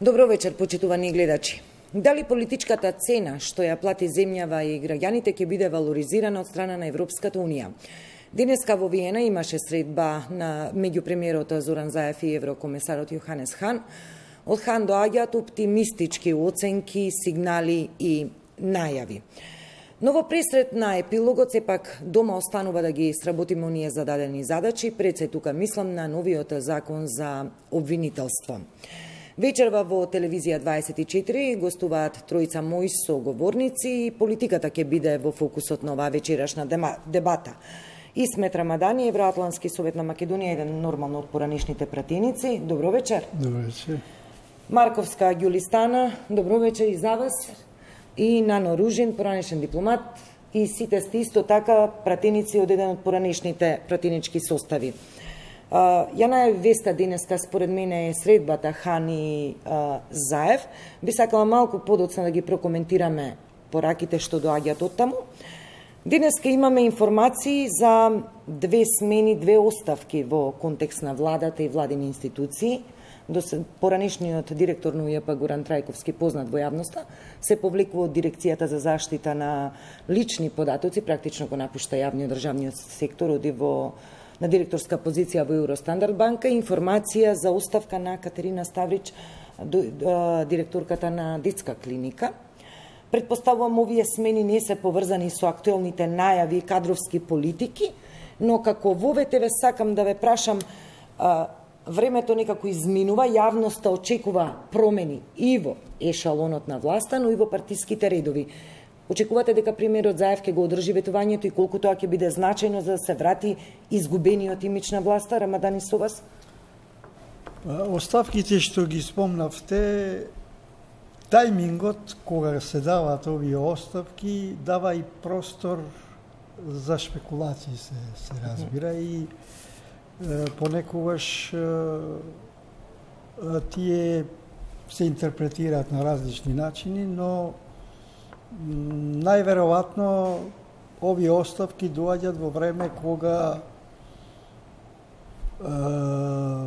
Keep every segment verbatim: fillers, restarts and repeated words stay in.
Добро вечер, почитувани гледачи. Дали политичката цена што ја плати земјава и граѓаните ќе биде валоризирана од страна на Европската Унија? Денеска во Виена имаше средба на меѓу премиерот Зоран Заев и еврокомесарот Јоханес Хан. Од Хан доаѓаат оптимистички оценки, сигнали и најави. Но во пресрет на епилогот сепак дома останува да ги сработиме оние зададени задачи, пред се тука мислам на новиот закон за обвинителство. Вечерва во телевизија дваесет и четири гостуваат тројца мои соговорници и политиката ќе биде во фокусот на оваа вечерашна дебата. Исмет Рамадани, Евроатлански совет на Македонија, еден нормално од поранешните пратеници. Добро вечер. Добро вечер. Марковска Ѓулистана, добро вечер и за вас. И Нано Ружин, поранешен дипломат, и сите сте исто така пратеници од еден од поранешните пратенички состави. Uh, ја најави веста денеска, според мене е средбата Хан и uh, Заев. Би сакала малку подоцна да ги прокоментираме пораките што доаѓаат од таму. Денеска имаме информации за две смени, две оставки во контекст на владата и владини институции. До поранешниот директор на УЈП Горан Трајковски, познат во јавноста, се повлекува од дирекцијата за заштита на лични податоци, практично го напушта јавниот државниот сектор, оди во на директорска позиција во Евростандард банка. Информација за оставка на Катерина Ставрич, директорката на детска клиника. Предпоставувам овие смени не се поврзани со актуелните најави и кадровски политики, но како во ВТВ сакам да ве прашам, времето некако изминува, јавноста очекува промени и во ешалонот на власта, но и во партиските редови. Очекувате дека премиерот Заев ќе го одржи ветувањето и колку тоа ќе биде значајно за да се врати изгубениот имидж на власта? Рамадани, со вас? Оставките што ги спомнавте, тајмингот кога се даваат овие оставки дава и простор за шпекулации, се, се разбира, и е, понекогаш е, тие се интерпретираат на различни начини, но најверојатно овие оставки доаѓаат во време кога е,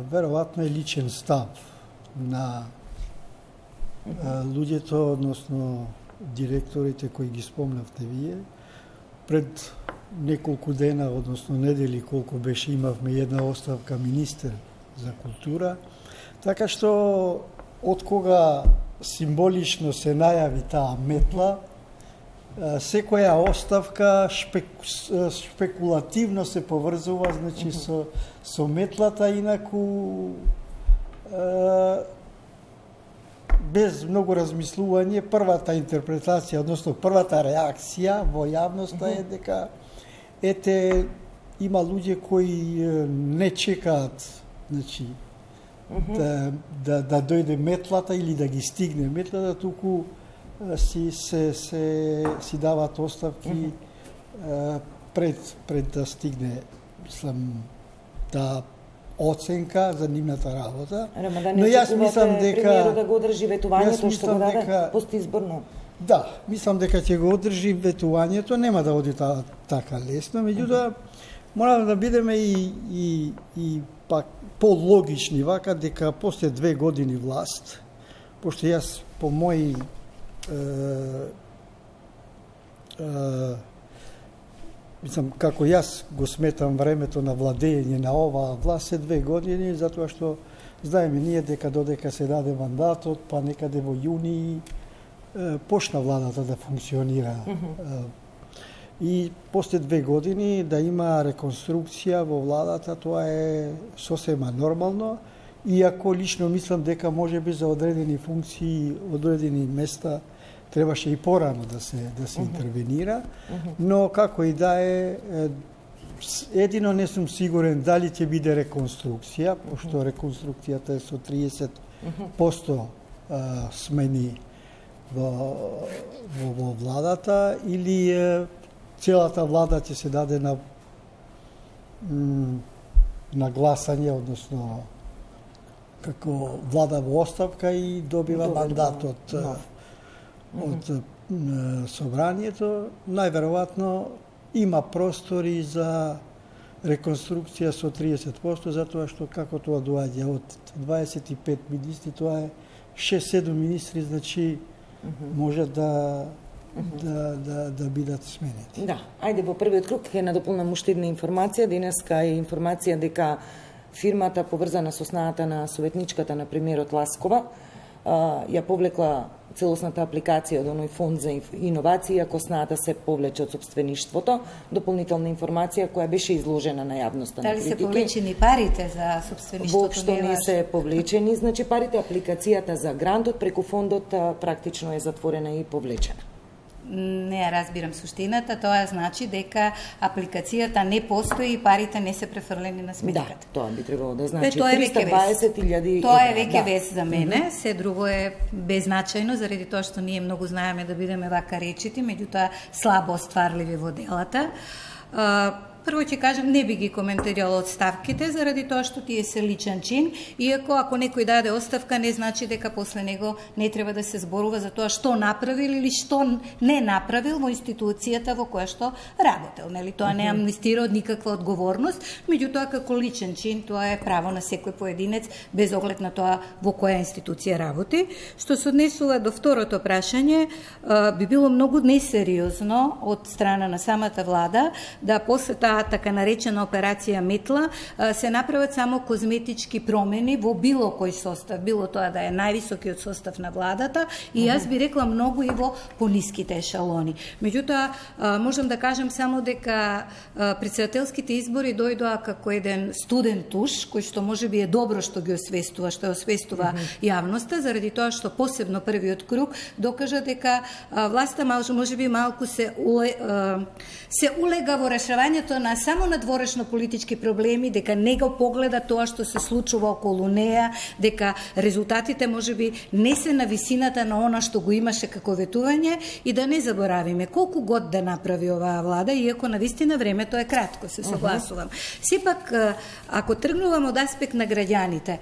веројатно е личен став на е, луѓето, односно директорите кои ги спомнавте вие. Пред неколку дена, односно недели, колку беше, имавме една оставка министер за култура, така што од кога символично се најави таа метла, секоја оставка шпек, шпекулативно се поврзува, значи, со, со метлата, инаку е, без многу размислување, првата интерпретација, односно првата реакција во јавноста е дека ете има луѓе кои не чекаат, значи, да, да, да дојде метлата или да ги стигне метлата, туку си се се си даваат оставки mm -hmm. пред пред да стигне, мислам, таа оценка за нивната работа. Рамадан, но јас мислам дека премиерот да го одржи ветувањето што го даде дека, постизборно. Да, мислам дека ќе го одржи ветувањето, нема да оди та, така лесно, меѓутоа mm -hmm. мораме да бидеме и и и пак пологични вака дека после две години власт, пошто јас по мои Uh, uh, мислам, како јас го сметам времето на владење на оваа власт е две години, затоа што знаеме ние дека додека се даде мандатот, па некаде во јуни uh, почна владата да функционира. Mm -hmm. uh, и после две години да има реконструкција во владата, тоа е сосема нормално, иако лично мислам дека можеби за одредени функции, одредени места требаше и порано да се да се интервенира, но како и да е, едино не сум сигурен дали ќе биде реконструкција, пошто реконструкцијата е со триесет проценти смени во, во, во владата, или целата влада ќе се даде на на гласање, односно како влада во оставка и добива мандат од no. од mm -hmm. собранието. Најверојатно има простори за реконструкција со триесет проценти, затоа што како тоа доаѓа од дваесет и пет министри, тоа е шест-седум министри, значи може да да да да бидат сменети. Да, ајде во првиот круг ќе надополнам уште една информација. Денеска е информација дека фирмата поврзана со снаата на советничката на премиерот Ласкова ја повлекла целосната апликација од оној фонд за иновации, ако снаата се повлече од собствеништвото. Дополнителна информација која беше изложена на јавноста. Дали се повлечени парите за собствеништвото? Воопшто не се повлечени, значи парите, апликацијата за грантот преку фондот практично е затворена и повлечена. Не ја разбирам суштината, тоа значи дека апликацијата не постои и парите не се префрлени на сметката. Да, тоа би требало да значи триста и дваесет илјади. Тоа е веќе вест за мене, се друго е беззначајно заради тоа што ние многу знаеме да бидеме вака речити, меѓутоа слабо остварливи во делата. Прво ќе кажам, не би ги коментирала одставките, заради тоа што тие се личен чин, иако ако некој даде оставка, не значи дека после него не треба да се зборува за тоа што направил или што не направил во институцијата во која што работел. Нели? Тоа не амнестира од никаква одговорност, меѓутоа како личен чин, тоа е право на секој поединец, без оглед на тоа во која институција работи. Што се однесува до второто прашање, би било многу несериозно од страна на самата влада да после таа така наречена операција Метла се направат само козметички промени во било кој состав, било тоа да е највисокиот состав на владата и јас би рекла многу и во пониските ешалони. Меѓутоа, можам да кажам само дека претседателските избори дојдоа како еден студен туш, кој што можеби е добро што ги освестува, што освестува јавноста, заради тоа што посебно првиот круг докажа дека власта можеби малку се уле, се улега во решавањето на само надворешно политички проблеми, дека не го погледа тоа што се случува околу неа, дека резултатите можеби не се на висината на она што го имаше како ветување и да не заборавиме колку год да направи оваа влада, иако навистина времето е кратко, се согласувам. Сепак, ако тргнувам од аспект на граѓаните,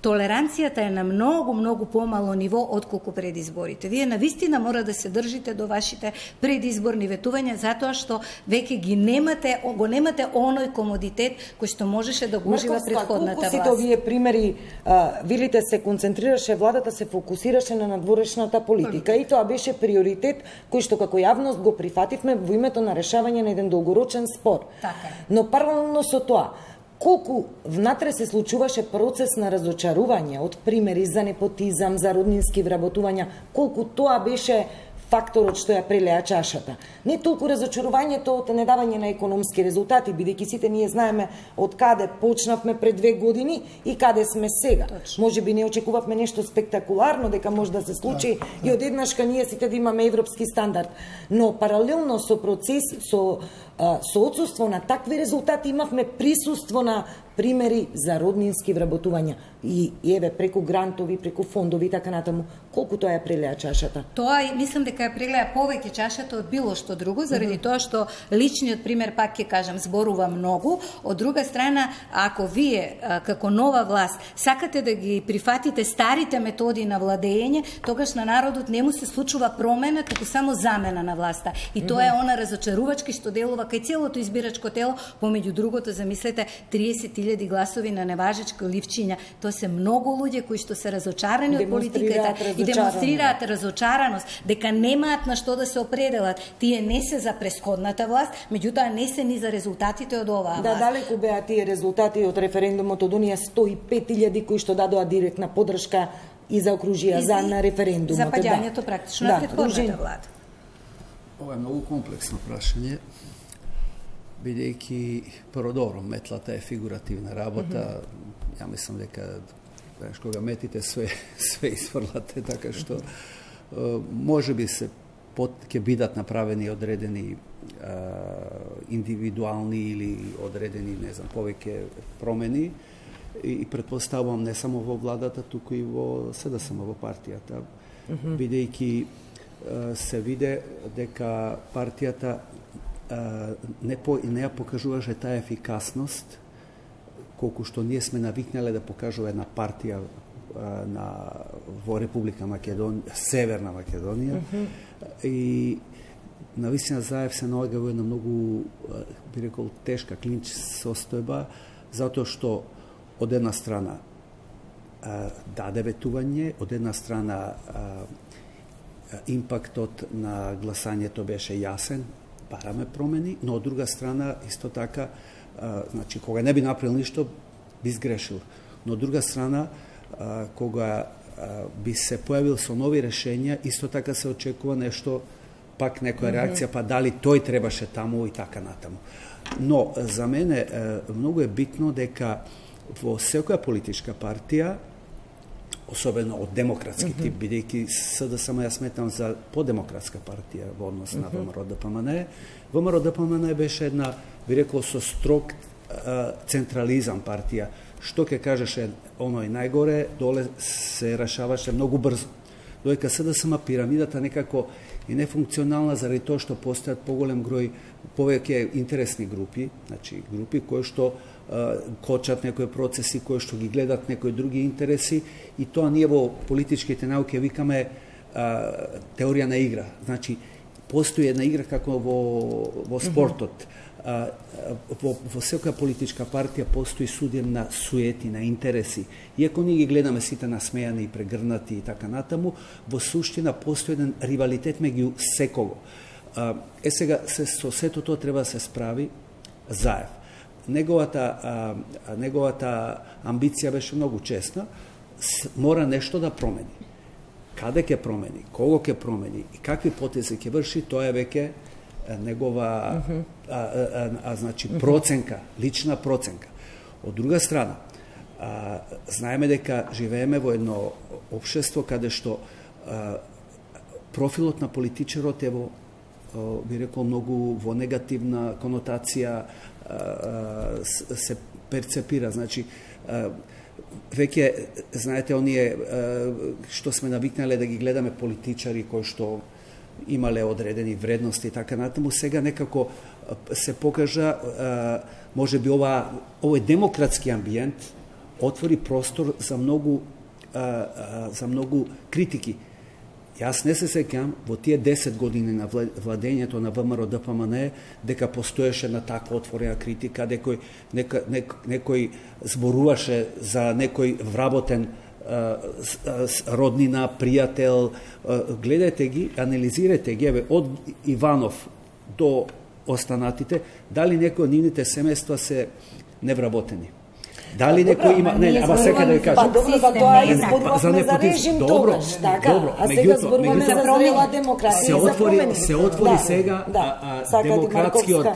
толеранцијата е на многу, многу помало ниво отколку пред изборите. Вие навистина мора да се држите до вашите предизборни ветувања, затоа што веќе ги немате, го немате оној комодитет кој што можеше да го ужива претходната власт. Колку сите овие примери, видите, се концентрираше, владата се фокусираше на надворешната политика и тоа беше приоритет кој што како јавност го прифативме во името на решавање на еден долгорочен спор. Така. Но паралелно со тоа, колку внатре се случуваше процес на разочарување од примери за непотизам, за роднински вработувања, колку тоа беше факторот што ја прелеа чашата. Не толку разочарувањето од недавање на економски резултати, бидејќи сите ние знаеме од каде почнавме пред две години и каде сме сега. Може би не очекувавме нешто спектакуларно дека може да се случи и одеднашка ние сите да имаме европски стандард. Но паралелно со процес, со со отсуство на такви резултати имавме присуство на примери за роднински вработувања и еве преку грантови, преку фондови и така натаму, колку тоа ја прелеа чашата? Тоа мислам дека ја прелеа повеќе чашата од било што друго, заради тоа што личниот пример, пак ќе кажам, зборува многу. Од друга страна, ако вие како нова власт сакате да ги прифатите старите методи на владење, тогаш на народот не му се случува промена, туку само замена на власта. И тоа е она разочарувачки што делува кај целото избирачко тело, помеѓу другото, замислете, триесет илјади гласови на неважечко ливчиња. Тоа се многу луѓе кои што се разочарани од политиката и демонстрираат разочараност, дека немаат на што да се определат. Тие не се за претходната власт, меѓутоа не се ни за резултатите од оваа власт. Да, далеку беа тие резултати од референдумот од оние сто и пет илјади кои што дадоа директна поддршка и заокружија за на референдумот. За паѓањето практично на претходната влада. Ова е многу комплексно прашање, бидејќи прво метлата е фигуративна работа. Mm -hmm. Ја мислам дека знаеш, кога метите све све изфрлате, така што може би се под ќе бидат направени одредени а, индивидуални или одредени, не знам, повеќе промени и, и претпоставувам не само во владата, туку и во СДСМ, во партијата, mm -hmm. бидејќи се виде дека партијата не, по, не ја покажуваше таа ефикасност колку што ние сме навикнале да покажува една партија на, во Република Македонија, Северна Македонија. Mm -hmm. И навистина Заев се наоѓа во една многу, би рекол, тешка клинч состојба, затоа што од една страна даде ветување, од една страна импактот на гласањето беше јасен, бараме промени, но од друга страна исто така, значи кога не би направил ништо, би сгрешил. Но од друга страна, кога би се појавил со нови решења, исто така се очекува нешто, пак некоја реакција, па дали тој требаше таму и така натаму. Но за мене многу е битно дека во секоја политичка партија, особено од демократски тип, бидејќи СДСМ ја сметам за подемократска партија во однос на ВМРО-ДПМН, ВМРО-ДПМН беше една, би рекол, со строг централизам партија. Што ќе кажеше оној најгоре, доле се решаваше многу брзо. Додека СДСМ пирамидата некако е нефункционална заради тоа што постојат поголем број, повеќе интересни групи, значи групи кои што кочат некои процеси, кои што ги гледат некои други интереси, и тоа ние во политичките науки викаме а, теорија на игра. Значи, постои една игра како во, во спортот. А, во, во секоја политичка партија постои суден на суети, на интереси. Иако ние ги гледаме сите насмејани и прегрнати и така натаму, во суштина постои еден ривалитет меѓу секого. А, е сега, се, со сето тоа треба да се справи заев. Неговата, а, неговата амбиција беше многу честна, мора нешто да промени. Каде ќе промени, кого ќе промени и какви потези ќе врши, тоа е веќе негова uh -huh. а, а, а, значи проценка, лична проценка. Од друга страна, а, знаеме дека живееме во едно општество каде што а, профилот на политичарот е во, би рекол, многу во негативна конотација се перцепира. Значи, веќе, знаете, оние што сме навикнале да ги гледаме политичари кои што имале одредени вредности и така натаму, сега некако се покажа, може би ова, овој демократски амбиент отвори простор за многу, за многу критики. Јас не се сеќам во тие десет години на владењето на ВМРО-ДПМН дека постоеше на таква отворена критика, дека некој, некој зборуваше за некој вработен роднина, пријател. Гледајте ги, анализирајте ги, еве, од Иванов до останатите, дали некои од нивните семејства се невработени. Дали некој има, не, ама сека да ви кажам. Па добро, за тоа изборувавме за режим тогаш, така, а сега зборуваме за зрела демократија. Се отвори, се отвори сега демократскиот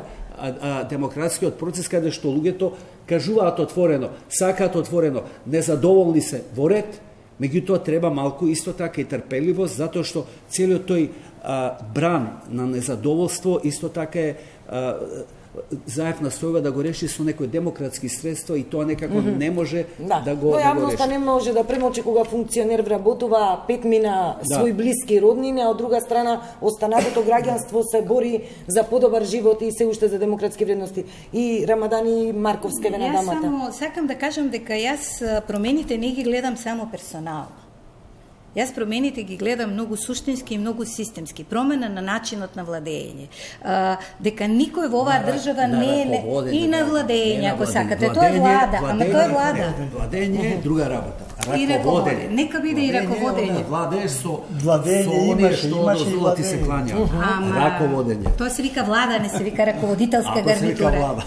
демократскиот процес каде што луѓето кажуваат отворено, сакаат отворено, незадоволни се во ред, меѓутоа треба малку исто така и трпеливост, затоа што целиот тој а, бран на незадоволство исто така е а, Заев настојува да го реши со некои демократски средства и тоа некако mm -hmm. не може да, да го, но да го реши. Јавноста не може да премолчи кога функционер вработува пет мина да. своји блиски роднини, а од друга страна останатото граѓанство се бори за подобар живот и се уште за демократски вредности. И Рамадани Марковска ве на дамата. Јас само сакам да кажам дека јас промените не ги гледам само персонално. Јас промените ги гледам многу суштински и многу системски. Промена на начинот на владење. А, дека никој во оваа држава на, не е и на владење, ако сакате. Тоа е влада, ама тоа е влада. Владење е друга работа. И раководење. Нека биде и раководење. Владееш со владење имаше, имаше и владење. Се клања. Раководење. Тоа се вика влада, не се вика раководителска гарнитура.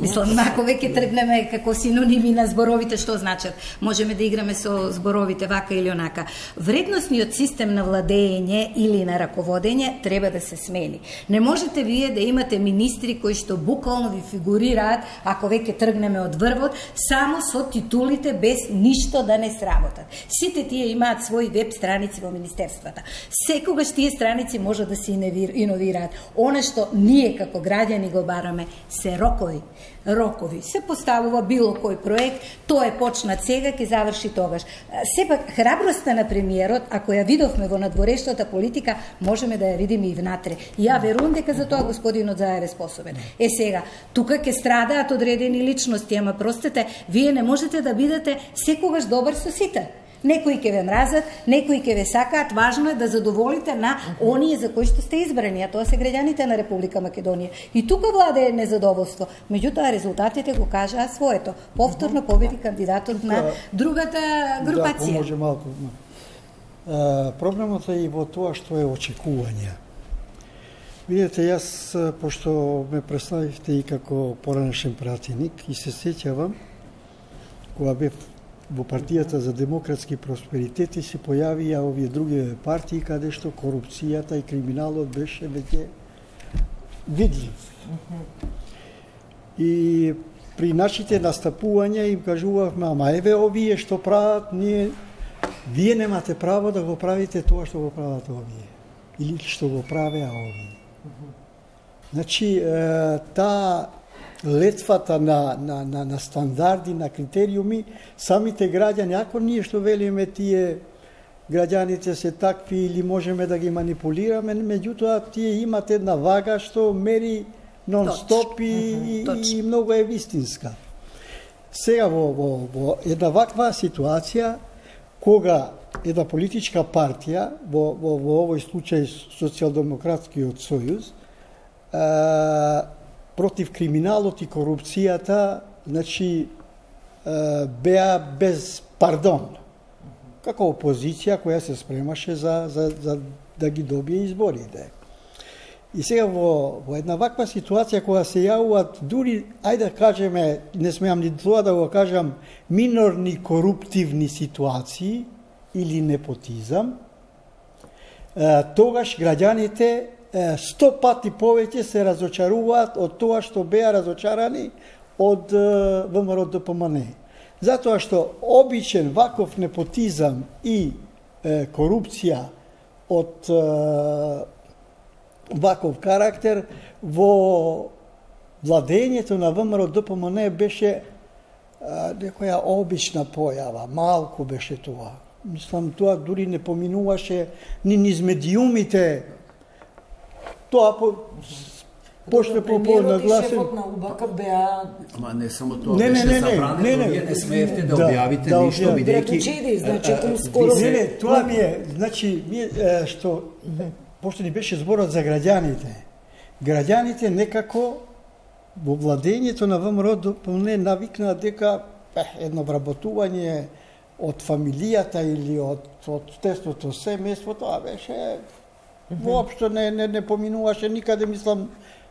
Мислам, ако веќе тргнеме како синоними на зборовите, што значат? Можеме да играме со зборовите вака или онака. Вредносниот систем на владење или на раководење треба да се смени. Не можете вие да имате министри кои што буквално ви фигурираат, ако веќе тргнеме од врвот, само со титулите без ништо да не сработат. Сите тие имаат своји веб страници во министерствата. Секогаш тие страници може да се иновираат. Она што ние како граѓани го бараме се рокови. Рокови. Се поставува било кој проект, тоа е почнат сега, ќе заврши тогаш. Сепак, храброста на премиерот, ако ја видовме во надворешната политика, можеме да ја видиме и внатре. И ја верувам дека за тоа господинот Заев е способен. Е сега, тука ќе страдаат одредени личности, ама простете, вие не можете да бидете секогаш добар со сите. Некои ќе ве мразат, некои ќе ве сакаат, важно е да задоволите на оние за кои што сте избрани, а тоа се граѓаните на Република Македонија. И тука владее незадоволство. Меѓутоа резултатите го кажаа своето. Повторно победи кандидатот на другата групација. Да, може малку. А, проблемот е и во тоа што е очекување. Видете, јас, пошто ме представивте и како поранешен пратеник, и се сеќавам, кога бев во партијата за демократски просперитет и се појавија овие други партии каде што корупцијата и криминалот беше веќе видлив. И при нашите настапувања им кажувавме, ама еве овие што прават, ние, вие немате право да го правите тоа што го прават овие. Или што го правеа овие. Значи, таа летвата на, на, на, на стандарди, на критериуми, самите граѓани, ако ние што велиме тие граѓаните се такви или можеме да ги манипулираме, меѓутоа тие имат една вага што мери нон-стоп и, и, и многу е вистинска. Сега во, во, во една ваква ситуација, кога една политичка партија, во, во, во овој случај Социјалдемократскиот сојуз, а, против криминалот и корупцијата, значи, беа без пардон. Како опозиција која се спремаше за, за, за да ги добие изборите. И сега во, во една ваква ситуација кога се јавуваат дури, ајде да кажеме, не смеам ни тоа да го кажам, минорни коруптивни ситуации или непотизам, тогаш граѓаните сто пати повеќе се разочаруваат од тоа што беа разочарани од ВМРО Д П М Н. Затоа што обичен ваков непотизам и е, корупција од е, ваков карактер во владењето на ВМРО Д П М Н беше е, некоја обична појава, малку беше тоа. Мислам, тоа дури не поминуваше ни низ медиумите. Тоа по пошто по нагласен. Шефот на У Б К беа. Ама не само тоа, не, беше не, не, забрането, не, не, вие не смеевте да, да објавите да, ништо, да, бидејќи... Значи, тоа скоро... Не, не, тоа ми е, значи, ми е, што, пошто ни беше зборот за граѓаните, граѓаните некако во владењето на ВМРО Д П М Н навикнаа дека е, едно вработување од фамилијата или од, од тесното семејство, тоа беше... Воопшто не, не, не поминуваше никаде, мислам,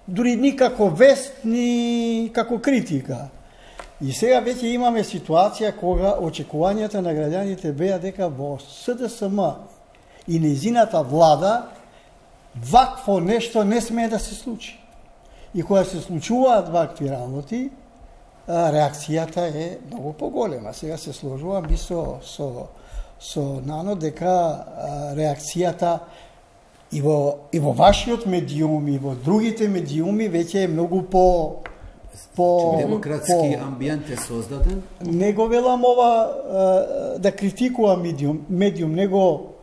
дури никако вест, ни како критика. И сега веќе имаме ситуација кога очекувањата на граѓаните беа дека во С Д С М и нејзината влада вакво нешто не смее да се случи. И кога се случуваат вакви работи, реакцијата е многу поголема. Сега се сложувам и со, со, со Нано дека реакцијата и во, и во вашиот медиум, и во другите медиуми веќе е многу по... по демократски по, амбиент е создаден? Не го велам ова да критикувам медиум, медиум, него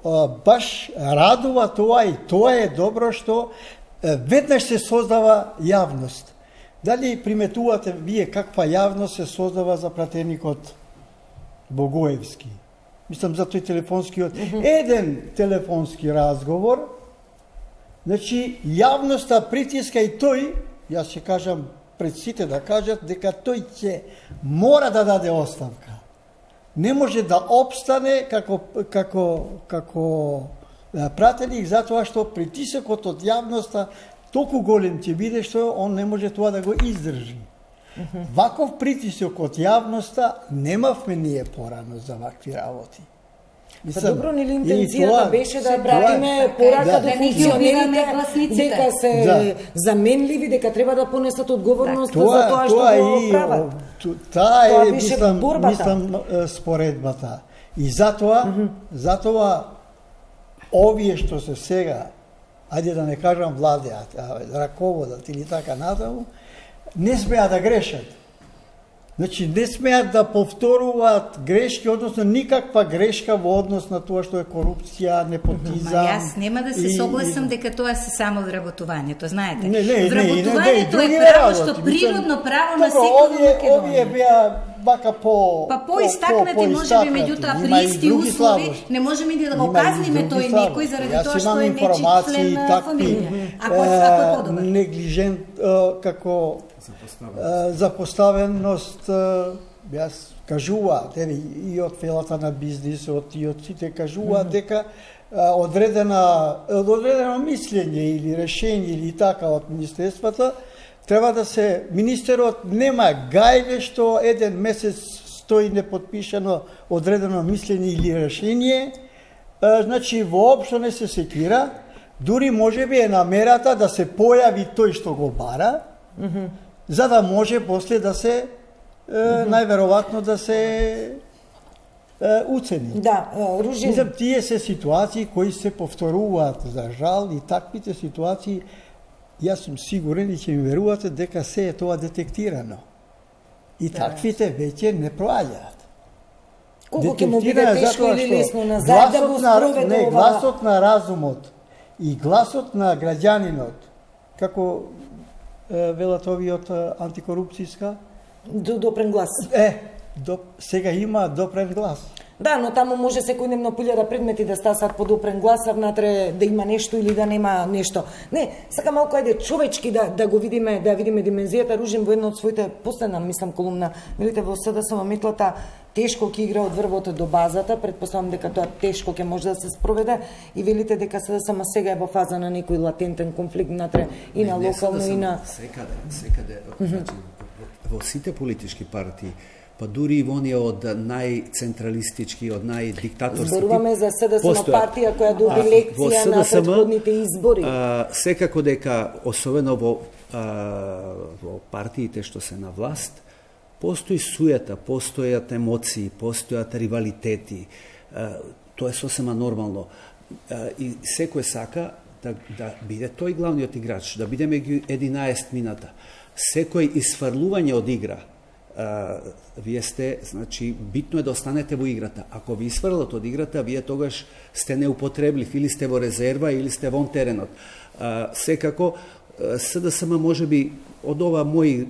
баш радува тоа и тоа е добро што веднаш се создава јавност. Дали приметувате вие каква јавност се создава за пратеникот Богоевски? Мислам за тој телефонскиот, еден телефонски разговор. Значи, јавноста притиска и тој, јас ќе кажам пред сите да кажат, дека тој ќе мора да даде оставка. Не може да обстане како, како, како пратеник, затоа што притисокот од јавноста толку голем ќе биде што он не може тоа да го издржи. Ваков притисок од јавноста немавме ние порано за вакви работи. Па добро, нели интенцијата беше да пратиме порака до функционерите дека се да. заменливи, дека треба да понесат одговорност тоа, за тоа што тоа го и, прават. Таа е, беше мислам, борбата. мислам споредбата. И затоа, mm -hmm. затоа овие што се сега, ајде да не кажам владеат, раководат или така натаму, не смеат да грешат. Значи, не смеат да повторуваат грешки, односно никаква грешка во однос на тоа што е корупција, непотизам. Ма јас нема да се согласам дека тоа се само вработувањето, знаете. Не, не, вработувањето не, не, не, е право што природно право на секој во Македонија. Овие беа вака по па поистакнати можеби, меѓутоа при исти услови не можеме да го казниме тој некој заради тоа што е нечи член на фамилија. Ако ако е подобар. Неглижент како запоставеност, јас кажуваат, и од фелата на бизнисот, и од сите кажуваат дека одредена одредено мислење или решение или така од министерствата треба да се, министерот нема гајле што еден месец стои неподпишано одредено мислење или решение, значи воопшто не се секира, дури можеби е намерата да се појави тој што го бара, mm -hmm. за да може после да се, mm -hmm. најверојатно да се уцени. Да, Ружин. Мислам, тие се ситуации кои се повторуваат за жал и таквите ситуации, јас сум сигурен и ќе ми верувате дека се е тоа детектирано. И да, таквите веќе не проаѓаат. Колку ќе му биде тешко или лесно назад да го спроведе не, гласот на разумот и гласот на граѓанинот, како е, велат овиот антикорупцијска, допрен глас. Е, до, сега има допрен глас. Да, но таму може секојдневно пилјада предмети да стасат по допрен глас, а внатре да има нешто или да нема нешто. Не, сака малку ајде човечки да да го видиме, да видиме димензијата. Ружин во едно од своите последна, мислам, колумна, велите во СДСМ метлата тешко ќе игра од врвото до базата, предпоставам дека тоа тешко ќе може да се спроведе и велите дека СДСМ сега е во фаза на некој латентен конфликт внатре и на локално и на секаде, секаде, значи во сите политички партии, па дури и воние од најцентралистички, од најдиктаторски. Зборуваме за СДСМ партија која доби лекција на претходните избори. А, секако дека, особено во, а, во партиите што се на власт, постои суета, постојат емоции, постојат ривалитети. А, тоа е сосема нормално. А, и секој сака да, да биде тој главниот играч, да биде меѓу единаесет мината. Секој исфрлување од игра, Uh, вие сте, значи, битно е да останете во играта. Ако ви исфрлат од играта, вие тогаш сте неупотреблив, или сте во резерва, или сте вон теренот. Uh, секако, uh, СДСМ може би од ова мои,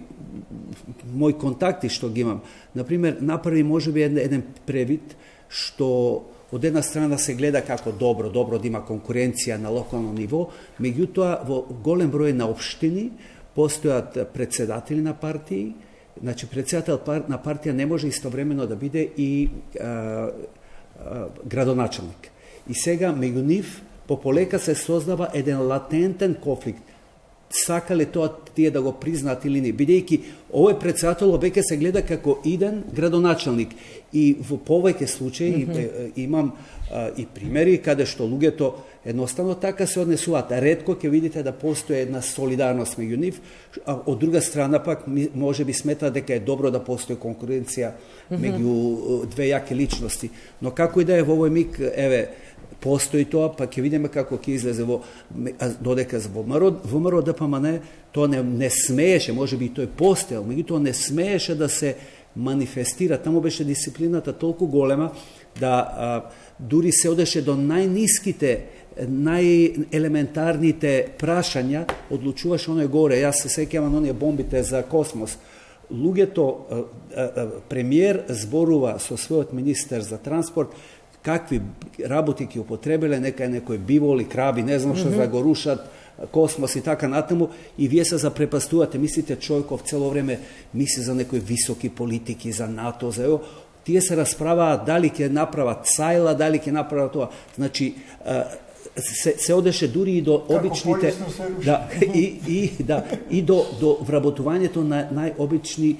мои контакти што ги имам, например, направи може би еден, еден превид што од една страна се гледа како добро, добро да има конкуренција на локално ниво, меѓутоа во голем број на општини постојат председатели на партии. Значи, председател на партија не може истовремено да биде и а, а, градоначелник. И сега, меѓу нив, пополека се создава еден латентен конфликт. Сакале тоа тие да го признаат или не, бидејќи овој председател веќе се гледа како иден градоначелник. И во повеќе случаи mm -hmm. имам а, и примери каде што луѓето едноставно така се однесуваат. Ретко ќе видите да постои една солидарност меѓу нив, а од друга страна пак може би смета дека е добро да постои конкуренција меѓу mm -hmm. две јаки личности. Но како и да е во овој миг, еве, постои тоа, па ќе видиме како ќе излезе во додека за ВМРО, ВМРО ДПМН тоа не, не смееше, може би тој постоел, меѓутоа не смееше да се манифестира. Таму беше дисциплината толку голема да а, дури се одеше до најниските, најелементарните прашања, одлучуваше оној горе. Јас се сеќавам на оние бомбите за космос. Луѓето, премиер зборува со својот министер за транспорт, какви работи ќе употребеле, нека е некој биволи, краби, не знам што, mm -hmm. да го рушат космос и така натаму, и вие се запрепастувате, мислите човеков цело време мисли за некои високи политики, за НАТО, за ево, тие се расправаат дали ќе направат сајла, дали ќе направат тоа. Значи, се, се одеше дури и до обичните, да, и, и, да, и до, до вработувањето на најобични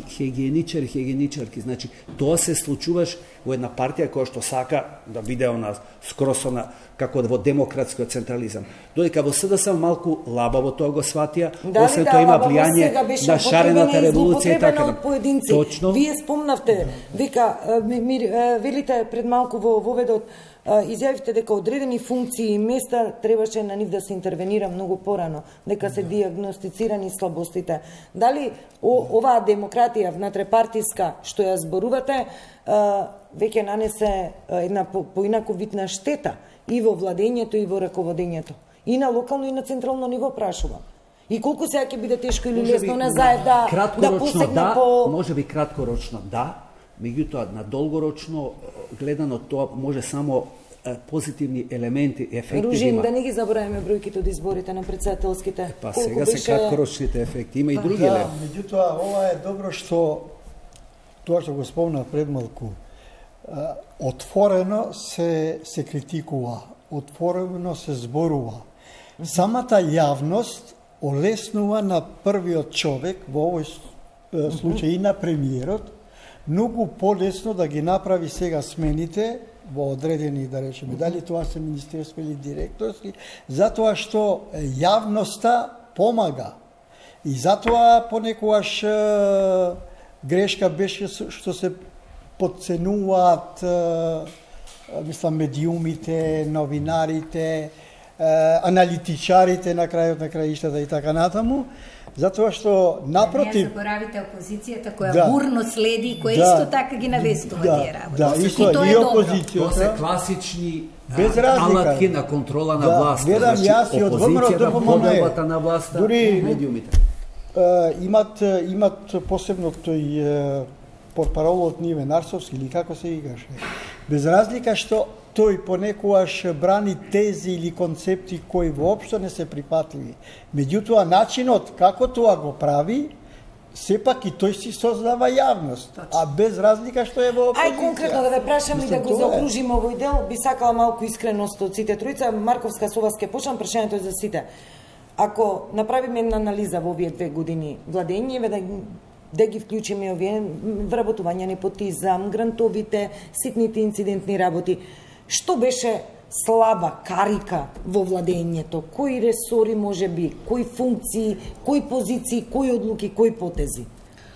хигиеничари, хигиеничарки. Значи, тоа се случуваш во една партија која што сака да биде она скросона како во демократскиот централизам. Додека во СДСМ малку лабаво тоа го сватија, да, освен да, тоа има влијание на шарената револуција и така. Точно. Вие спомнавте, вика, велите пред малку во воведот, изјавивте дека одредени функции и места требаше на нив да се интервенира многу порано, дека се диагностицирани слабостите. Дали оваа демократија внатре партиска што ја зборувате, веќе нанесе една поинаковитна штета и во владењето и во раководењето, и на локално и на централно ниво, прашувам. И колку сега ќе биде тешко или Може лесно би на Заев да, да краткорочно посегне да, по... може би краткорочно да, меѓутоа на долгорочно гледано тоа може само е, позитивни елементи, ефекти Ружин, има. да не ги забораваме бројките од изборите на председателските. Па Колку сега беше... се краткорочните ефекти, има и други Да, елементи. меѓутоа ова е добро што тоа што го спомна пред малку. Отворено се се критикува, отворено се зборува. Самата јавност олеснува на првиот човек, во овој случај и на премиерот, многу полесно да ги направи сега смените во одредени, да речеме, дали тоа се министерство или директорски, затоа што јавноста помага. И затоа понекогаш грешка беше што се подценуваат мислам медиумите, новинарите, аналитичарите на крајот на краиштата и така натаму, затоа што напротив... Не заборавите опозицијата која да, бурно следи и која да, исто така ги навестува да, тие работи. Да, и исто тоа и е добро. опозицијата. Тоа се класични без разлика алатки на контрола на да, власта. Гледам јас и од ВМРО ДПМН. поделбата на власта, дури медиумите. Имат имат посебно тој портпаролот Ниве Нарсовски или како се играше. Без разлика што тој понекогаш брани тези или концепти кои воопшто не се припатливи. Меѓутоа начинот како тоа го прави, сепак и тој си создава јавност, а без разлика што е во опозиција. Ај конкретно да ве прашам и да го заокружим овој дел, би сакала малку искреност од сите тројца. Марковска, со вас ке почнам, прашањето е за сите. Ако направиме една анализа во овие две години владење, да да ги вклучиме овие вработување, непотизам, грантовите, ситните инцидентни работи, што беше слаба карика во владењето? Кои ресори може би, кои функции, кои позиции, кои одлуки, кои потези?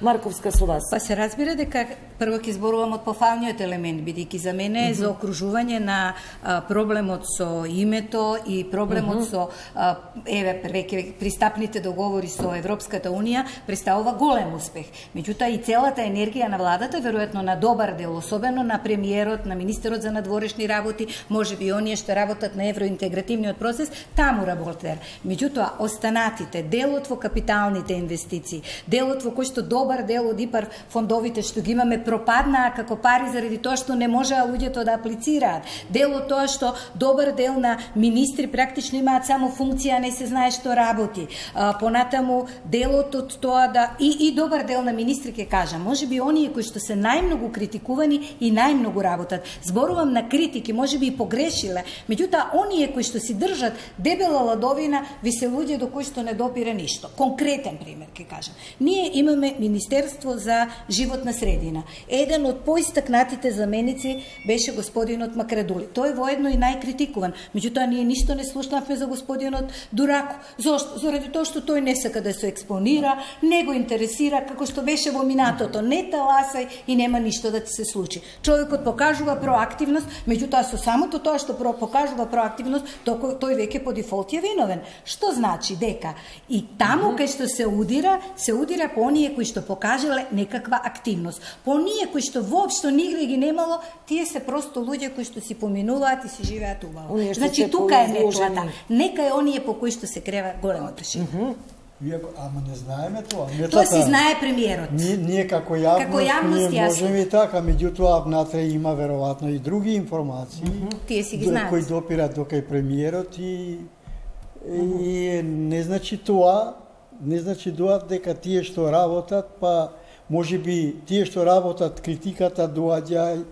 Марковска, со вас. Па се разбира дека прво ќе зборувам од пофалниот елемент, бидејќи за мене е за окружување на а, проблемот со името и проблемот mm -hmm. со а, еве веќе пристапните договори со Европската унија представува голем успех. Меѓутоа и целата енергија на владата, веројатно на добар дел, особено на премиерот, на министерот за надворешни работи, можеби оние што работат на евроинтегративниот процес, таму работер. Меѓутоа останатите, делот во капиталните инвестиции, делот во кој што добар дел од ИПАР фондовите што ги имаме пропаднаа како пари заради тоа што не можеа луѓето да аплицираат. Дел од тоа што добар дел на министри практично имаат само функција, не се знае што работи. А, понатаму делот од тоа да и и добар дел на министри ќе кажам, можеби оние кои што се најмногу критикувани и најмногу работат. Зборувам на критики, можеби и погрешиле, меѓутоа оние кои што си држат дебела ладовина, ви се луѓе до кои што не допира ништо. Конкретен пример ќе кажам. Ние имаме Министерство за животна средина. Еден од поистакнатите заменици беше господинот Макредули. Тој воедно и најкритикуван. Меѓутоа ние ништо не слушнавме за господинот Дурако. Зошто? Заради тоа што тој не сака да се експонира, не го интересира како што беше во минатото. Не таласај и нема ништо да ти се случи. Човекот покажува проактивност, меѓутоа со самото тоа што покажува проактивност, тој веќе по дефолт е виновен. Што значи дека и таму кај што се удира, се удира по оние кои што покажале некаква активност. По оние кои што воопшто нигде ги немало, тие се просто луѓе кои што си поминуваат и си живеат убаво. Значи тука е метлата. Нека е оние по кои што се крева големо прашање. Mm -hmm. Ама не знаеме тоа. Метлата, тоа си знае премиерот. Ние, ние како јавност, како јавност ние можеме и така, меѓутоа внатре има веројатно и други информации. Mm -hmm. Тие си ги до, знаат. Кои допират до кај премиерот и, и mm -hmm. не значи тоа, не значи тоа дека тие што работат, па можеби тие што работат, критиката доаѓа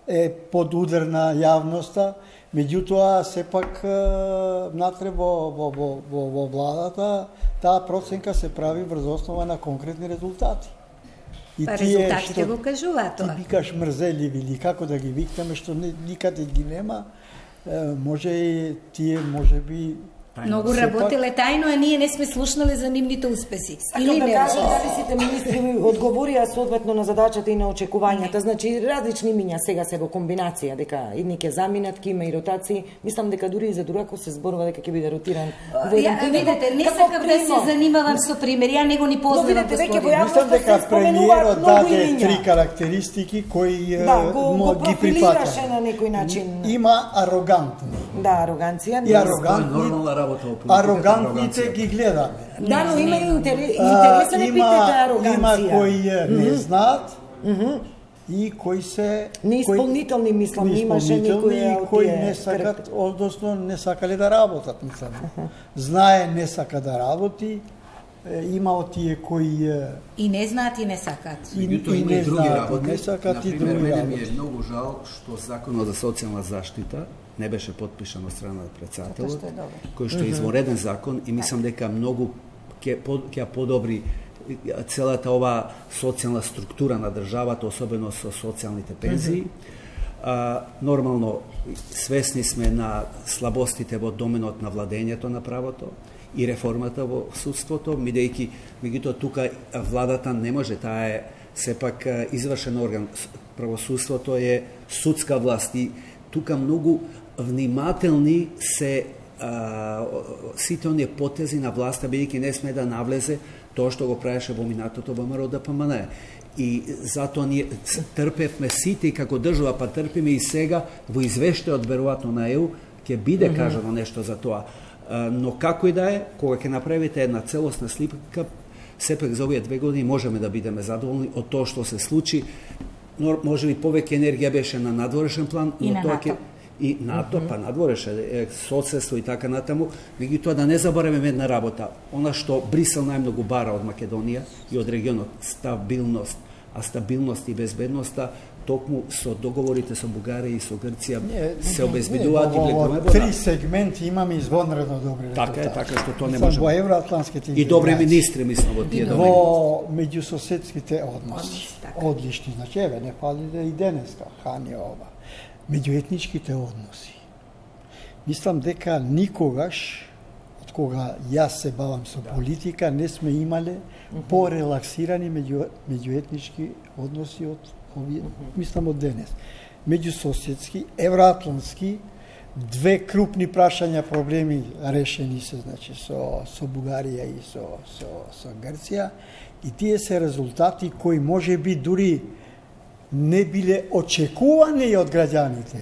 е под удар на јавноста, меѓутоа сепак внатре во, во, во, во, во владата таа проценка се прави врз основа на конкретни резултати. И па резултатите го кажуваат тоа. Ти викаш мрзеливи или како да ги викнеме што никаде ги нема, може и тие можеби многу работеле тајно, а ние не сме слушнале за нивните успеси. Или да кажат дали сите министри одговорија соодветно на задачата и на очекувањата. Значи различни миња сега се во комбинација, дека едни ќе заминат, ќе има и ротации. Мислам дека дури и за Дурако се зборува дека ќе биде ротиран. Ја видите, не сакам да се занимавам со пример, ја него ни познавам господин. Мислам дека премиерот даде три карактеристики кои да, го, го ги прифаќа на некој начин. Има арогантни. Да, ароганција. И арогантни, нормална работа во политиката. Арогантните ги гледаме. Да, но има интересен епитет ароганција. Има кои не знаат, и кои се неисполнителни, мислам, имаше некои кои не сакат, односно не сакале да работат, мислам. Знае не сака да работи, има од тие кои и не знаат и не сакат. И, и, и не знаат, не сакат и други работи. работи. Ми е многу жал што законот за социјална заштита не беше потпишан од страна на председателот, кој што е извореден закон и мислам дека многу ќе ќе подобри целата ова социјална структура на државата, особено со социјалните пензии. А, нормално, свесни сме на слабостите во доменот на владењето на правото и реформата во судството, бидејќи меѓутоа тука владата не може, таа е сепак извршен орган. Правосудството е судска власт и тука многу внимателни се а, сите оние потези на власта, бидејќи не сме да навлезе тоа што го правеше во минатото ВМРО Д П М Н. И затоа ние трпевме сите и како држава, па трпиме и сега во извештајот веројатно на Е У ќе биде mm -hmm. кажано нешто за тоа. Но како и да е, кога ќе направите една целосна слика, сепак за овие две години можеме да бидеме задоволни од тоа што се случи. Може би повеќе енергија беше на надворешен план, но и на тоа НАТО. ќе и НАТО, mm -hmm. па надвореше, соседство и така натаму, меѓутоа да не забораваме една работа. Она што Брисел најмногу бара од Македонија и од регионот, стабилност, а стабилност и безбедноста токму со договорите со Бугарија и со Грција се обезбедуваат и гледаме во три сегменти имаме извонредно добри резултати. Така е, така што тоа не може. Во евроатланските и добри министри, мислам, во тие домени. Во меѓусоседските односи. Одлични, значи, еве, не фали да и денеска, хани ова. Меѓуетничките односи. Мислам дека никогаш, од кога јас се бавам со политика, не сме имале порелаксирани меѓу, меѓуетнички односи од овие, мислам од денес. Меѓусоседски, евроатлански, две крупни прашања, проблеми решени се, значи, со, со Бугарија и со, со, со Грција, и тие се резултати кои може би дури не биле очекувани од граѓаните.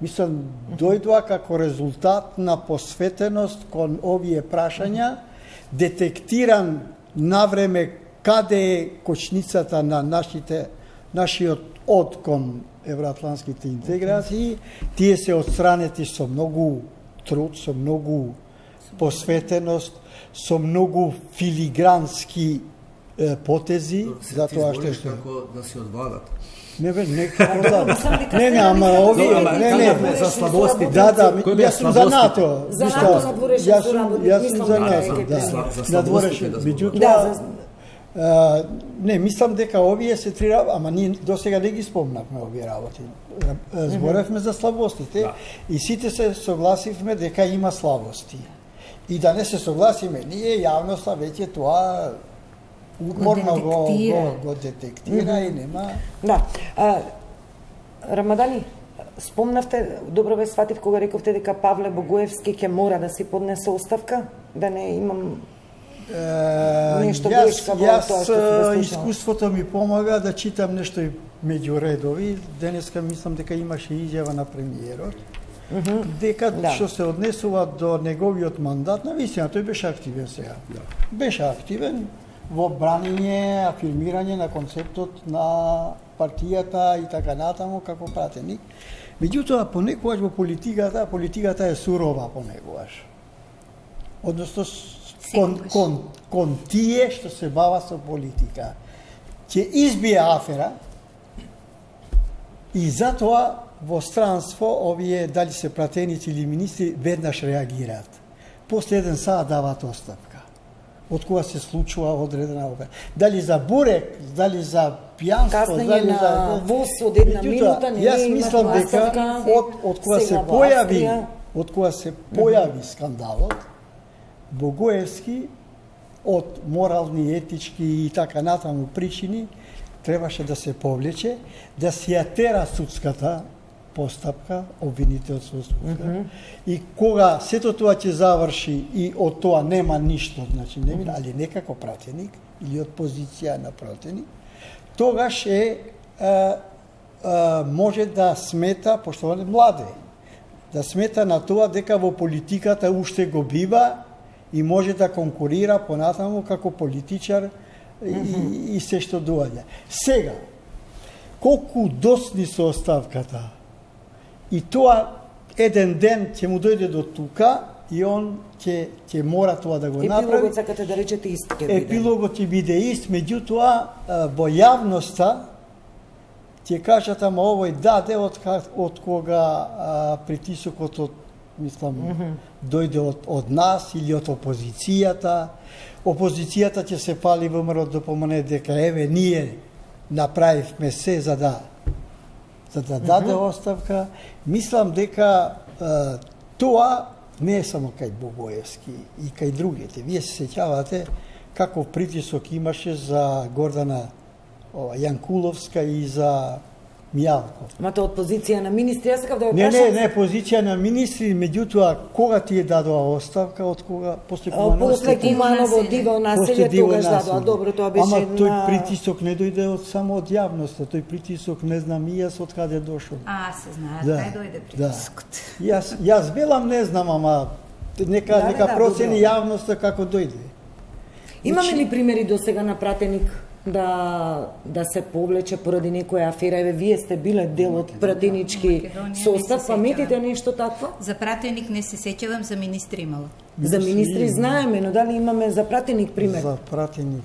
Мислам, дојдоа како резултат на посветеност кон овие прашања, детектиран навреме каде е кочницата на нашите, нашиот од кон евроатланските интеграции, тие се отстранети со многу труд, со многу посветеност, со многу филигрански е, потези, затоа што што како да се одвадат. Не бе, не, не, не, ама овие, не, не, за слабостите. Да, да, јас сум за НАТО. За НАТО надворешен јас сум, јас сум за НАТО, да. Надворешен, меѓутоа, не, мислам дека овие се три работи, ама ние досега не ги спомнавме овие работи. Зборевме за слабостите и сите се согласивме дека има слабости. И да не се согласиме, ние јавноста веќе тоа уморно го, го, го детектира mm -hmm. и нема... Да. А, Рамадани, спомнавте, добро ве сватив кога рековте дека Павле Богоевски ќе мора да си поднесе оставка, да не имам е, нешто јас, грешка во јас, тоа што се искуството ми помага да читам нешто и меѓу редови. Денеска мислам дека имаше изјава на премиерот, mm -hmm. дека да. Што се однесува до неговиот мандат, навистина тој беше активен сега. Да. Беше активен во браниње, афирмирање на концептот на партијата и така натаму како пратеник. Меѓутоа, понекогаш во политиката, политиката е сурова понекогаш. Односно, кон, кон, кон тие што се бава со политика. Ќе избие афера и затоа во странство овие, дали се пратеници или министри, веднаш реагираат. После еден саат даваат оставка. Од кога се случува одредена опера. Дали за бурек, дали за пијанство, дали на за воз од една минута, не јас мислам дека од од кога се појави, од кога се појави скандалот, Богоевски од морални, етички и така натаму причини требаше да се повлече, да се ја тера судската постапка, обвинителот со судска. Mm -hmm. И кога сето тоа ќе заврши и од тоа нема ништо, значи не мина, али некако пратеник или од позиција на пратеник, тогаш е, е, е може да смета, пошто он е младе, да смета на тоа дека во политиката уште го бива и може да конкурира понатаму како политичар и, и, и се што доаѓа. Сега, колку досни со оставката, и тоа еден ден ќе му дојде до тука и он ќе ќе мора тоа да го направи. Епилогот сакате да речете ист ќе биде. Епилогот ќе биде ист, меѓутоа во јавноста ќе кажат ама овој даде од, од кога а, притисокот од мислам mm -hmm. дојде од, од нас или од опозицијата. Опозицијата ќе се пали ВМРО да помане дека еве ние направивме се за да за да даде mm -hmm. оставка. Мислам дека а, тоа не е само кај Богоевски и кај другите. Вие се сеќавате каков притисок имаше за Гордана о, Јанкуловска и за Мијалков. Ма тоа од позиција на министри, јас сакав да ја Не, прашам. не, не, позиција на министри, меѓутоа кога ти е дадоа оставка, од кога после Куманово? После Куманово диво населје тогаш дадоа. Добро, тоа беше Ама тој на... притисок не дојде од само од јавноста, тој притисок не знам и јас од каде дошол. А, се знаат, Да, кај дојде притискот. Да. Јас јас велам не знам, ама нека Да, нека да, процени добро. јавноста како дојде. Имаме ли примери до сега на пратеник да да се повлече поради некоја афера? Еве вие сте биле дел од пратенички Македонија, состав, не се паметите сеќавам. нешто такво? За пратеник не се сеќавам, за министри имало. За министри знаеме, но дали имаме за пратеник пример? За пратеник.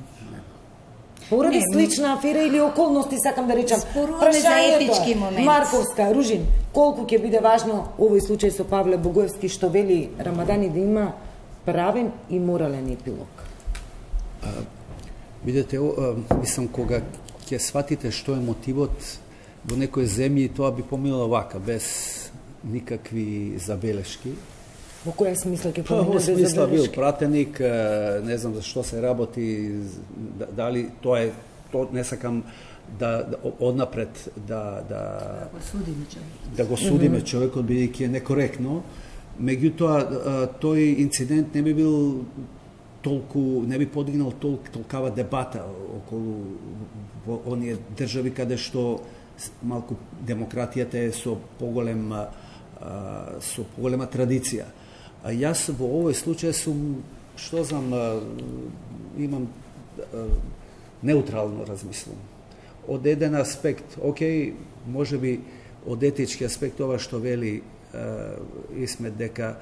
Поради Не, слична афера или околности, сакам да речам. Споруваме за Прашањето е, етички моменти. Марковска, Ружин, колку ќе биде важно овој случај со Павле Богоевски, што вели Рамадани да има правен и морален епилог? Видете, мислам, кога ќе сватите што е мотивот во некој земји, тоа би помило вака, без никакви забелешки. Во која смисла ќе Па, во помине без смисла бил забелешки? пратеник, не знам за што се работи, дали тоа е, то не сакам да, да однапред да да Го судиме човек. да го судиме човекот бидејќи е некоректно. Меѓутоа тој инцидент не би бил толку, не би подигнал толку толкава дебата околу во оние држави каде што малку демократијата е со поголем а, со поголема традиција. А јас во овој случај сум, што знам, а, имам а, неутрално размислувам. Од еден аспект, окей, може би од етички аспект ова што вели а, Исмет дека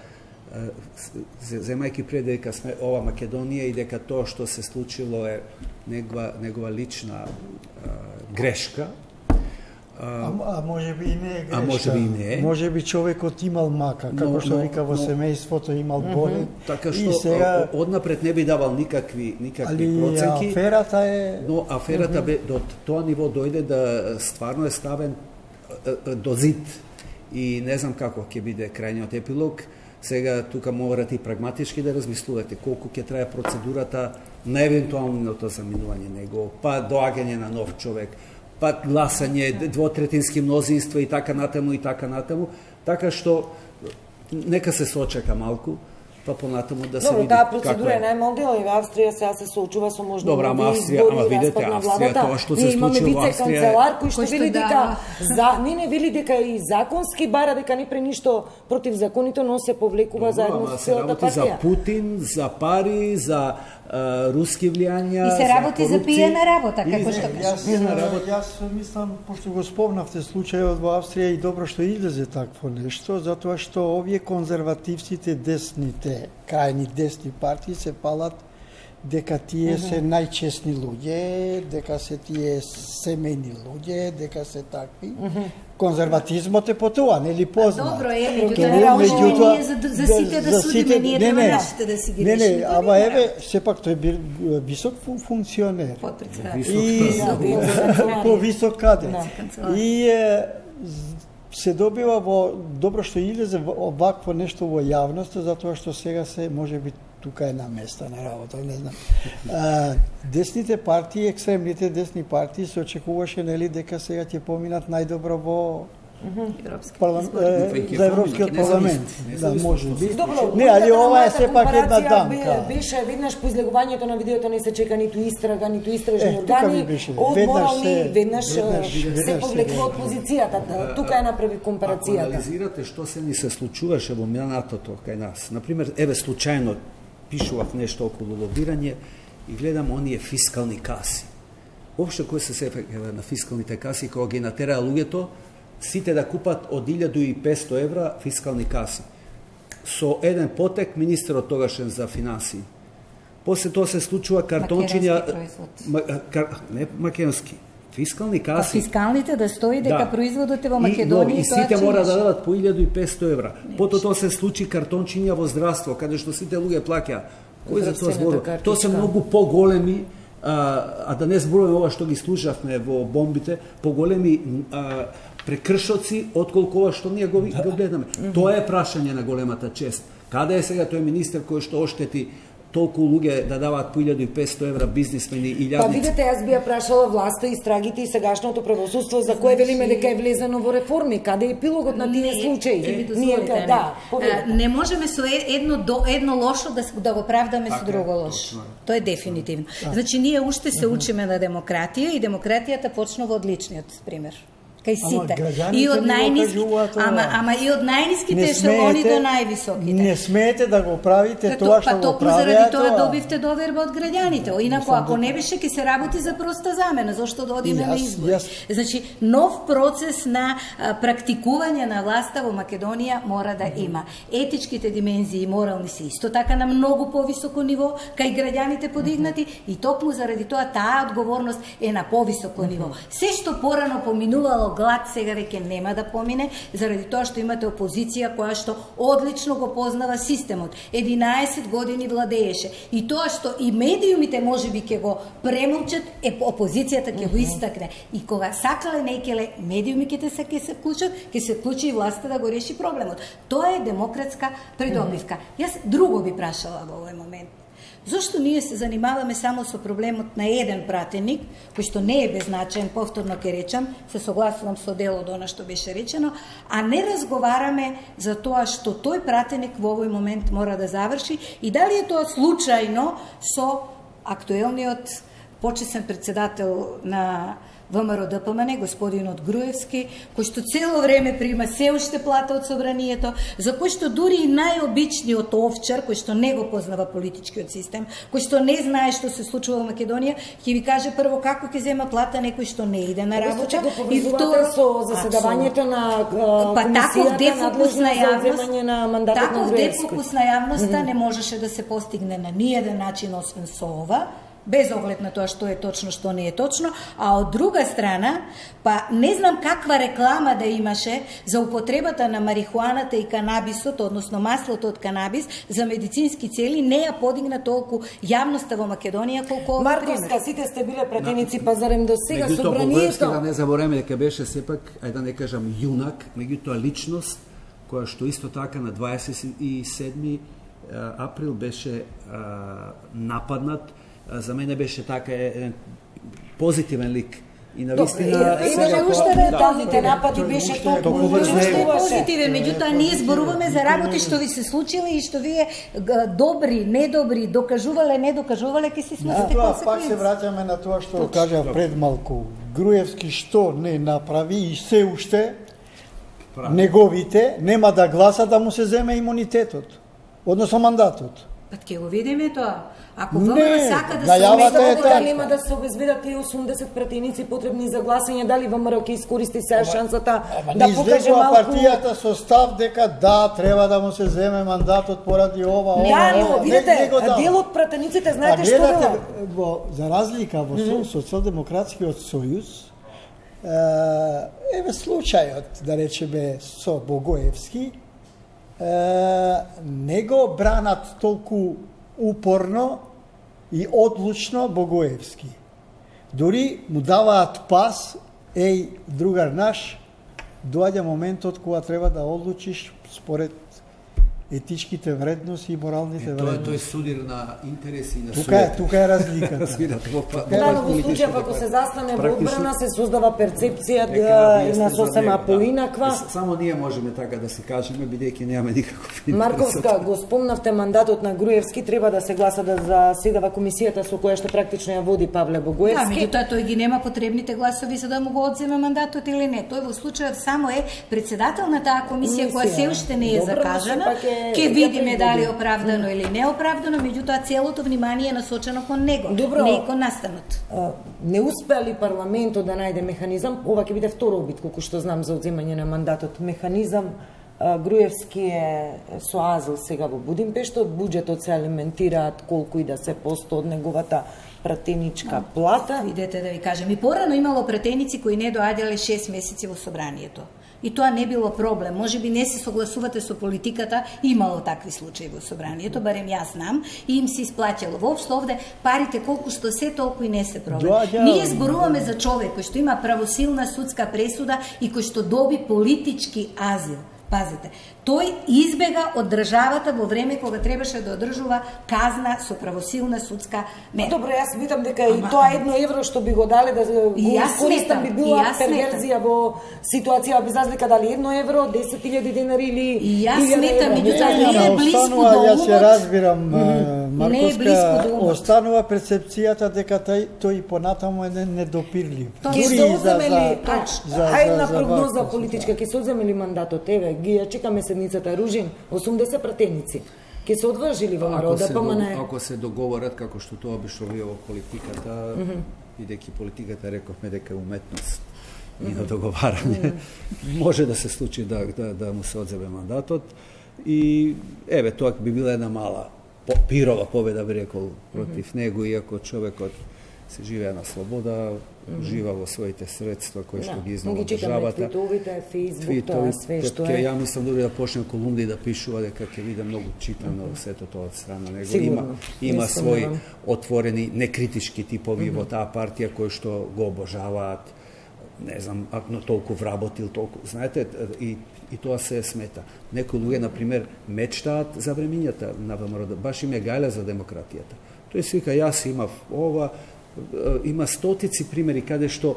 земајќи пред дека сме ова Македонија и дека тоа што се случило е негова, негова лична а, грешка. А, а може би и не е грешка. А може би и не е. Може би човекот имал мака, како Но- што но- вика во но- семејството имал болен. Така и што сега, о- однапред не би давал никакви никакви али проценки. аферата е Но аферата бе до тоа ниво дојде да стварно е ставен е, е, до зид и не знам како ќе биде крајниот епилог. Сега тука морате и прагматички да размислувате колку ќе трае процедурата на евентуалното заминување него, па доаѓање на нов човек, па гласање, двотретински мнозинство и така натаму и така натаму, така што нека се сочека малку, па понатаму да се Добро, види таа како процедура е. е најмалку и Австрија сега се соочува со можни Добра, ама нови Австрија, избори, ама видете, распад на Австрија, владата. тоа што се Ние имаме случило во Австрија- вице-канцелар кој што Кој што вели дека дава. за не не вели дека и законски бара дека не пре ништо против законите, но се повлекува Добро, заедно ама со се целата работи за партија. Путин, за пари, за а, руски влијања, И се работи за корупција. пиена работа, И како за- што Јас, кажеш. Пиена работа. јас мислам, пошто го спомнавте случајот во Австрија и добро што излезе такво нешто, затоа што овие конзервативците, десните, крајни десни партии се палат дека тие се најчесни луѓе, дека се тие семејни луѓе, дека се такви. Конзерватизмот е по тоа, нели позна. Добро е, Тоа, меѓутоа не можеме меѓутоа, ние за, за сите да, за судиме, сите- ние не, треба не, нашите да си ги Не, решиме. не, Тоа ама не еве, сепак тој бил висок фун- функционер. Потпредседател. И Да, по висок каде. канцелар. И е, се добива во добро што излезе во- овакво нешто во јавноста, затоа што сега се можеби тука е на место на работа, не знам. А, десните партии, екстремните десни партии се очекуваше нели дека сега ќе поминат најдобро во Европски Парлам... избори. За Европскиот парламент. Да, може би. Добро, не, али ова е сепак една дамка. Беше веднаш по излегувањето на видеото не се чека ниту истрага, ниту истражни е, органи. Од морални веднаш се повлекува од се позицијата. Тука е направи компарацијата. Ако анализирате што се ни се случуваше во минатото кај нас. Например, еве случајно пишував нешто околу лобирање и гледам оние фискални каси. Општо кој се се на фискалните каси, кога ги натераа луѓето, сите да купат од илјаду и песто евра фискални каси. Со еден потек, министерот тогашен за финансии. После тоа се случува картончиња... Не македонски. Фискални каси. Па фискалните да стои дека да. Производот е во Македонија и, и сите мора да дадат по илјаду и песто евра. Пото тоа се случи картончиња во здравство, каде што сите луѓе плаќаа. Кој за тоа зборува? Тоа се многу поголеми, а, а да не зборуваме ова што ги слушавме во бомбите, поголеми а, прекршоци отколку ова што ние го, го гледаме. Тоа е прашање на големата чест. Каде е сега тој министер кој што оштети толку луѓе да даваат по илјаду и песто евра бизнисмени и илјадници? Па видете, јас би ја прашала власта, истрагите и сегашното правосудство за кое велиме дека е влезено во реформи. Каде е епилогот на тие случаи? Ние да, не можеме со едно до едно лошо да да го правдаме со друго лошо. Тоа е дефинитивно. Значи ние уште се учиме на демократија и демократијата почнува од личниот пример. Кај сите. И од најниски, ама ама и од најниските ешелони до највисоките. Не смеете да го правите тоа што го правите. Па заради тоа добивте доверба од граѓаните. Инаку ако не беше ќе се работи за проста замена, зошто да одиме на избори. Значи нов процес на практикување на власта во Македонија мора да има. Етичките димензии и морални се исто така на многу повисоко ниво, кај граѓаните подигнати и токму заради тоа таа одговорност е на повисоко ниво. Се што порано поминувало глад сега веќе нема да помине, заради тоа што имате опозиција која што одлично го познава системот. единаесет години владееше. И тоа што и медиумите можеби ќе го премолчат, е опозицијата ќе го истакне. И кога сакале некеле, медиумите се ќе се вклучат, ќе се вклучи и власта да го реши проблемот. Тоа е демократска придобивка. Јас друго би прашала во овој момент. Зошто ние се занимаваме само со проблемот на еден пратеник, кој што не е беззначаен, повторно ќе речам, се согласувам со дел од она што беше речено, а не разговараме за тоа што тој пратеник во овој момент мора да заврши и дали е тоа случајно со актуелниот почесен председател на ВМРО Д П М Н, господинот Груевски, кој што цело време прима се уште плата од собранието, за кој што дури и најобичниот овчар, кој што не го познава политичкиот систем, кој што не знае што се случува во Македонија, ќе ви каже прво како ќе зема плата некој што не иде на работа и второ со заседавањето на комисијата надлежна за земање на мандатот на Груевски. Таков дефокус на јавноста не можеше да се постигне на ниеден начин освен со ова, без оглед на тоа што е точно, што не е точно, а од друга страна, па не знам каква реклама да имаше за употребата на марихуаната и канабисот, односно маслото од канабис, за медицински цели, не ја подигна толку јавноста во Македонија колку овој пример. Марковска, сите сте биле пратеници, па зарем до сега собранието. Да не забореме дека беше сепак, ајде да не кажам јунак, меѓутоа личност, која што исто така на дваесет и седми април беше а, нападнат. За мене беше така еден позитивен лик. И на вистина сега уште дадите напади беше толку позитивен, меѓутоа ние зборуваме за работи што ви се случиле и што вие добри, недобри, докажувале, не докажувале, ќе си сносите консеквенции. Пак се враќаме на тоа што кажа пред малку. Груевски што не направи и се уште неговите нема да гласат да му се земе имунитетот, односно мандатот. Па ќе го видиме тоа. Ако ВМРО сака да се обезбедат, дали нема да се обезбедат и осумдесет пратеници потребни за гласање, дали ВМРО ќе искористи сега шансата да покаже малку... партијата со став дека да, треба да му се земе мандатот поради ова, ова, да, ова. Но, видите, дел од пратениците, знаете што велат? Во, за разлика во mm -hmm. Социјалдемократскиот сојуз, еве случајот, да речеме, со Богоевски, не го бранат толку упорно и одлучно Богоевски. Дури му даваат пас, еј, другар наш, доаѓа моментот кога треба да одлучиш според етичките вредности и моралните е, вредности. Тој судир на интереси и на тука е, тука е разликата. Да, но во случај ако се застане во одбрана се создава перцепција да на сосема поинаква. Само ние можеме така да се кажеме, бидејќи немаме никаков интерес. Марковска, го спомнавте мандатот на Груевски, треба да се гласа да заседава комисијата со која што практично ја води Павле Богоевски. Да, меѓутоа тој ги нема потребните гласови за да му го одземе мандатот или не. Тој во случајот само е председател на таа комисија која се уште не е закажана. Ке видиме дали е оправдано или неоправдано, меѓутоа целото внимание е насочено кон него, Добро, не кон настанот. Не успеа ли парламентот да најде механизам, ова ќе биде второ обид, колку што знам за одземање на мандатот, механизам. Груевски е со азил сега во Будимпешта, од буџетот се алиментираат колку и да се посто од неговата пратеничка плата. Видете да ви кажем, и порано имало пратеници кои не доаѓале шест месеци во собранието. И тоа не било проблем. Може би не се согласувате со политиката, имало такви случаи во собранието, барем јас знам, и им се исплаќало. Воопшто овде парите колку што се, толку и не се проблем. Ние зборуваме за човек кој што има правосилна судска пресуда и кој што доби политички азил. Пазите, тој избега од државата во време кога требаше да одржува казна со правосилна судска мера. Добро, јас сметам дека и тоа едно евро што би го дале да го искористам би била перверзија во ситуација без разлика дали едно евро, десет илјади денари или и јас сметам, меѓутоа не е близко до умот. Јас ја разбирам, Марковска, останува перцепцијата дека тој тој понатаму е недопирлив. Ќе се одземе ли, ајде на прогноза политичка, ќе се одземе ли мандатот, еве, ги ја чекаме седницата Ружин, осумдесет пратеници. Ке се одвржи ли во народа, па мане... Ако се договорат, како што тоа обично вие во политиката, бидејќи политиката рековме дека е уметност и на договарање, може да се случи да, да, да му се одземе мандатот. И, еве, тоа би била една мала пирова победа, би рекол, против него, иако човекот се живее на слобода, жива во своите средства кои што ги изнала државата. Твитовите, Фейсбук, тоа све што е. Ја мислам дури да почне колумни да пишува дека ќе биде многу читано сето тоа од страна него. Има има своји отворени некритички типови во таа партија кои што го обожаваат, не знам, но толку вработил, толку, знаете, и и тоа се смета. Некои луѓе на пример мечтаат за времињата на ВМРО, баш им е гајле за демократијата. Тој си вика јас имав ова, има стотици примери каде што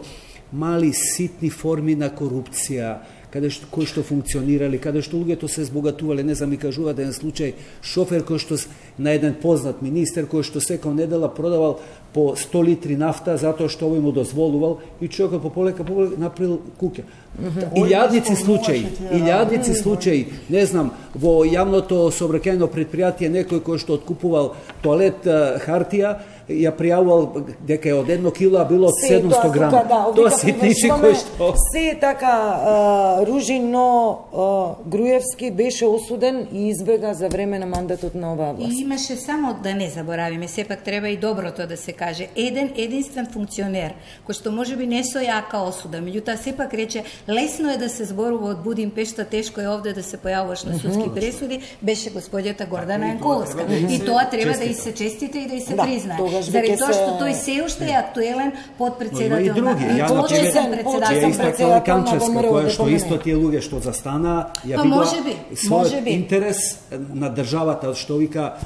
мали ситни форми на корупција, каде што кои што функционирали, каде што луѓето се збогатувале, не знам, ми кажуваат еден случај шофер кој што на еден познат министер кој што секој недела продавал по сто литри нафта затоа што овој му дозволувал и човекот по полека полека направил куќа. Илјадници случаи, илјадници случаи, не знам, во јавното сообраќајно предпријатие некој кој што откупувал тоалет хартија ја пријавувал дека е од едно кило, а било од седумсто грама. Да, тоа ситничи кои што... Се е така Ружин, но Груевски беше осуден и избега за време на мандатот на оваа власт. И имаше само, да не заборавиме, сепак треба и доброто да се каже, еден единствен функционер, кој што можеби не со јака осуда, меѓутоа сепак рече, лесно е да се зборува од Будимпешта, тешко е овде да се појавуваш на судски пресуди, беше господјата Гордана Јанковска. И тоа треба да и се честите и да и се признае. Заради тоа што тој се уште е актуелен подпредседател на почесен председател Канчевска, која што исто тие луѓе што застана, ја видува својот интерес на државата, што вика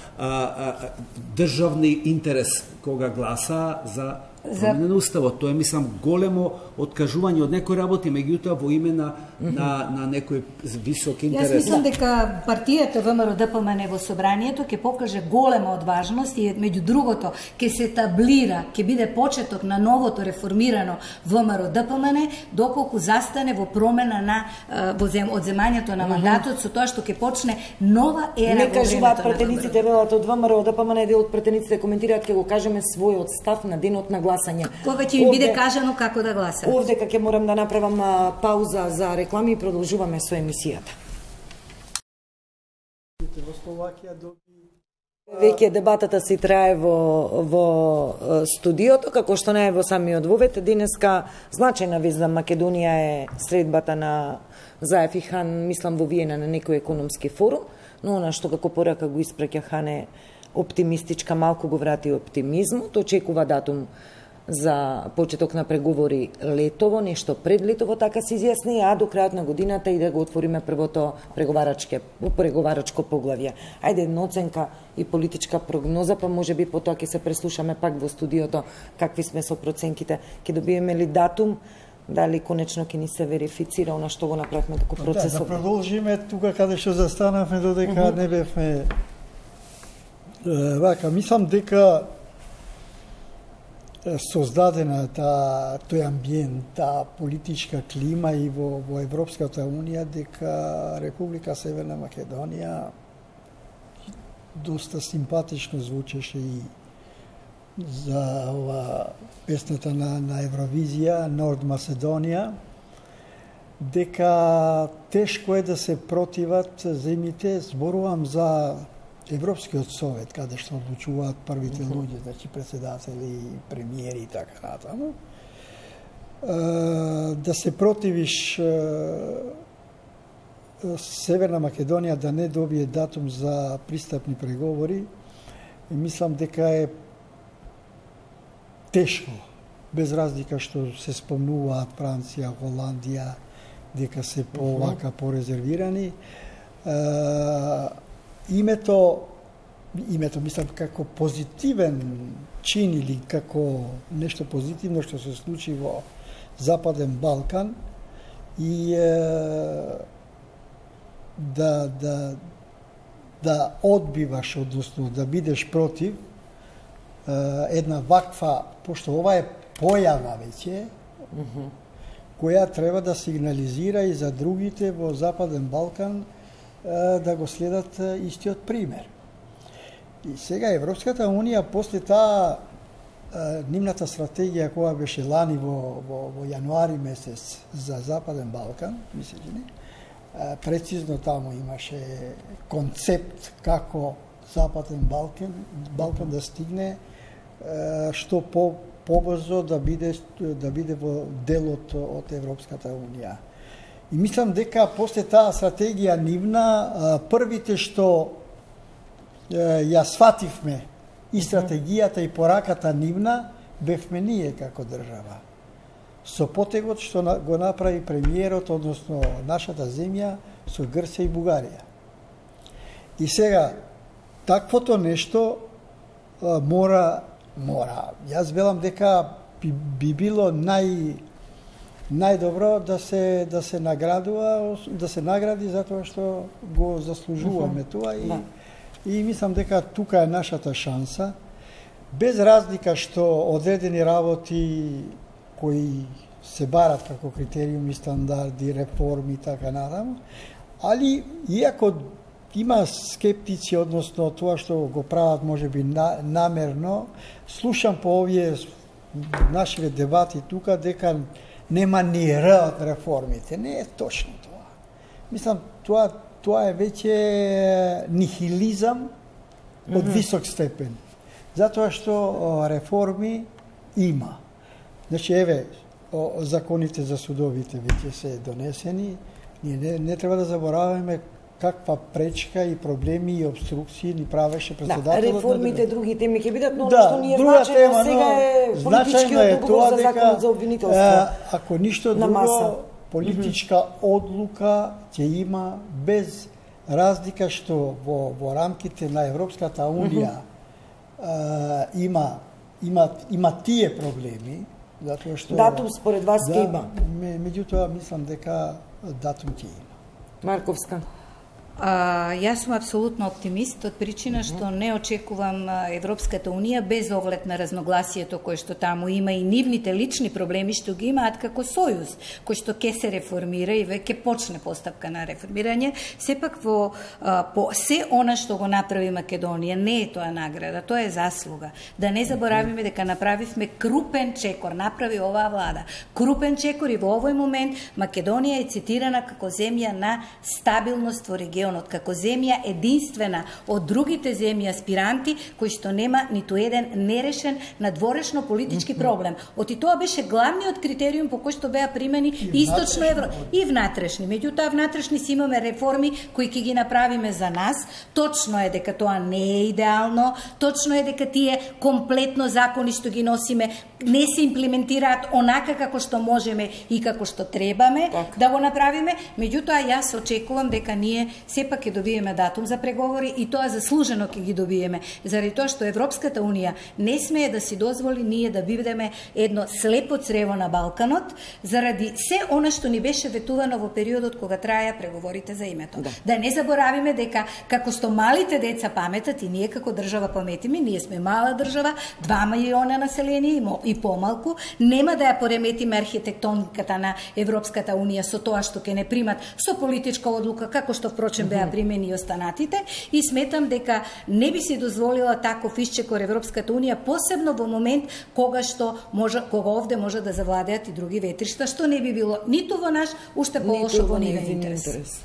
државни интерес кога гласа за промена на уставот. Тоа е, мислам, големо откажување од некои работи, меѓутоа во име на, на, на некој висок интерес. Јас мислам дека партијата ВМРО-ДПМН во собранието ќе покаже голема одважност и меѓу другото ќе се таблира, ќе биде почеток на новото реформирано ВМРО-ДПМН, доколку застане во промена на во зем, одземањето на мандатот со тоа што ќе почне нова ера не во времето на кажуваат пратениците велат од ВМРО-ДПМН, дел од пратениците коментираат ќе го кажеме својот став на денот на гласање. Кога ќе им биде кажано како да гласат. Овде ќе морам да направам пауза за реклами и продолжуваме со емисијата. Веќе дебатата си трае во, во студиото, како што не е во самиот вовет. Денеска значајна вест за Македонија е средбата на Заев и Хан, мислам во Виена на некој економски форум, но она што како порака го испраќа Хан е оптимистичка, малку го врати оптимизмот, очекува датум за почеток на преговори летово, нешто пред летово, така се изјасни, а до крајот на годината и да го отвориме првото преговарачке преговарачко поглавје. Ајде една оценка и политичка прогноза, па можеби потоа ќе се преслушаме пак во студиото какви сме со проценките. Ќе добиеме ли датум, дали конечно ќе ни се верифицира она што го направивме како процес? Да, да продолжиме тука каде што застанавме, додека uh -huh. не бевме вака. Мислам дека создадена та, тој амбиент, та политичка клима и во, во Европската Унија, дека Република Северна Македонија доста симпатично звучеше и за ова песната на, на Евровизија, Норд Македонија, дека тешко е да се противат земите, зборувам за Европскиот совет, каде што одлучуваат првите луѓе, значи председатели, премиери и така натаму, да се противиш Северна Македонија да не добие датум за пристапни преговори, мислам дека е тешко, без разлика што се спомнуваат Франција, Холандија, дека се повака порезервирани. Името, името, мислам, како позитивен чин или како нешто позитивно што се случи во Западен Балкан и е, да, да, да одбиваш, односно да бидеш против е, една ваква, пошто ова е појава веќе, uh -huh. која треба да сигнализира и за другите во Западен Балкан да го следат истиот пример. И сега Европската Унија после таа нивната стратегија која беше лани во, во, во јануари месец за Западен Балкан, мислиш ли? Прецизно таму имаше концепт како Западен Балкан, Балкан да стигне што по побрзо да биде да биде во делот од Европската Унија. И мислам дека после таа стратегија нивна, првите што ја свативме и стратегијата и пораката нивна, бевме ние како држава. Со потегот што го направи премиерот, односно нашата земја, со Грција и Бугарија. И сега, таквото нешто мора, мора. Јас велам дека би, би било нај најдобро да се да се наградува, да се награди затоа што го заслужуваме uh -huh. тоа и, да. И мислам дека тука е нашата шанса, без разлика што одредени работи кои се барат како критериуми, стандарди, реформи и така натаму, али иако има скептици, односно тоа што го прават можеби на, намерно, слушам по овие нашите дебати тука дека нема ни Р од реформите. Не е точно тоа. Мислам, тоа, тоа е веќе нихилизам од mm -hmm. висок степен. Затоа што реформи има. Значи, еве, законите за судовите веќе се донесени. Ние не, не треба да забораваме каква пречка и проблеми и обструкции ни правеше председателот. Да, реформите, на... други теми ќе бидат, но да, што ни е значено сега е политичкиот договор за законот за обвинителство. Ако ништо друго, политичка mm -hmm. одлука ќе има без разлика што во, во рамките на Европската Унија mm -hmm. а, има, има, има тие проблеми, затоа што... Датум според вас ќе да, има? Меѓутоа, мислам дека датум ќе има. Марковска. А, јас сум апсолутно оптимист од причина што не очекувам Европската Унија без оглед на разногласието кое што таму има и нивните лични проблеми што ги имаат како сојуз, кој што ќе се реформира и веќе почне постапка на реформирање, сепак во а, по се она што го направи Македонија не е тоа награда, тоа е заслуга. Да не заборавиме дека направивме крупен чекор, направи оваа влада. Крупен чекор и во овој момент Македонија е цитирана како земја на стабилност во регионот, како земја единствена од другите земји аспиранти кои што нема ниту еден нерешен надворешно политички проблем. Оти тоа беше главниот критериум по кој што беа примени и источно евро и внатрешни. Меѓутоа внатрешни си имаме реформи кои ќе ги направиме за нас. Точно е дека тоа не е идеално, точно е дека тие комплетно закони што ги носиме не се имплементираат онака како што можеме и како што требаме так. да го направиме, меѓутоа јас очекувам дека ние сепак ќе добиеме датум за преговори и тоа заслужено ќе ги добиеме, заради тоа што Европската унија не смее да си дозволи ние да бидеме едно слепо црево на Балканот, заради се она што ни беше ветувано во периодот кога траја преговорите за името. Да, да не заборавиме дека како што малите деца паметат и ние како држава паметиме, ние сме мала држава, два милиона население и помалку, нема да ја пореметиме архитектониката на Европската унија со тоа што ќе не примат со политичка одлука, како што впрочем беа примени и останатите, и сметам дека не би си дозволила таков исчекор Европската унија, посебно во момент кога што може, кога овде може да завладеат и други ветришта, што не би било ниту во наш, уште полошо во нивен интерес.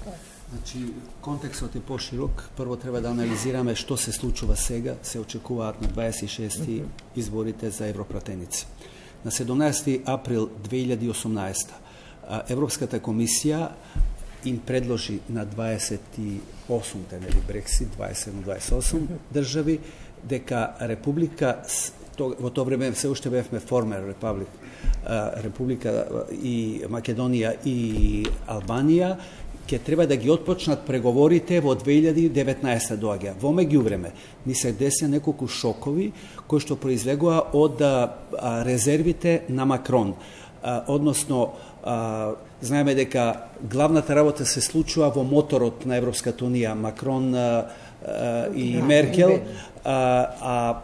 Значи, контекстот е поширок. Прво треба да анализираме што се случува сега. Се очекуваат на дваесет и шести изборите за европратеници. На седумнаесети април две илјади и осумнаесета Европската комисија им предложи на дваесет и осумте, нели Брексит, дваесет и седум дваесет и осум држави, дека Република, во тоа време се уште бевме формер Републик, Република и Македонија и Албанија, ќе треба да ги отпочнат преговорите во две илјади и деветнаесета доаѓа. Во меѓувреме ни се десија неколку шокови кои што произлегува од а, резервите на Макрон. А, односно, а, знаеме дека главната работа се случува во моторот на Европската унија, Макрон а, а, и Меркел, а, а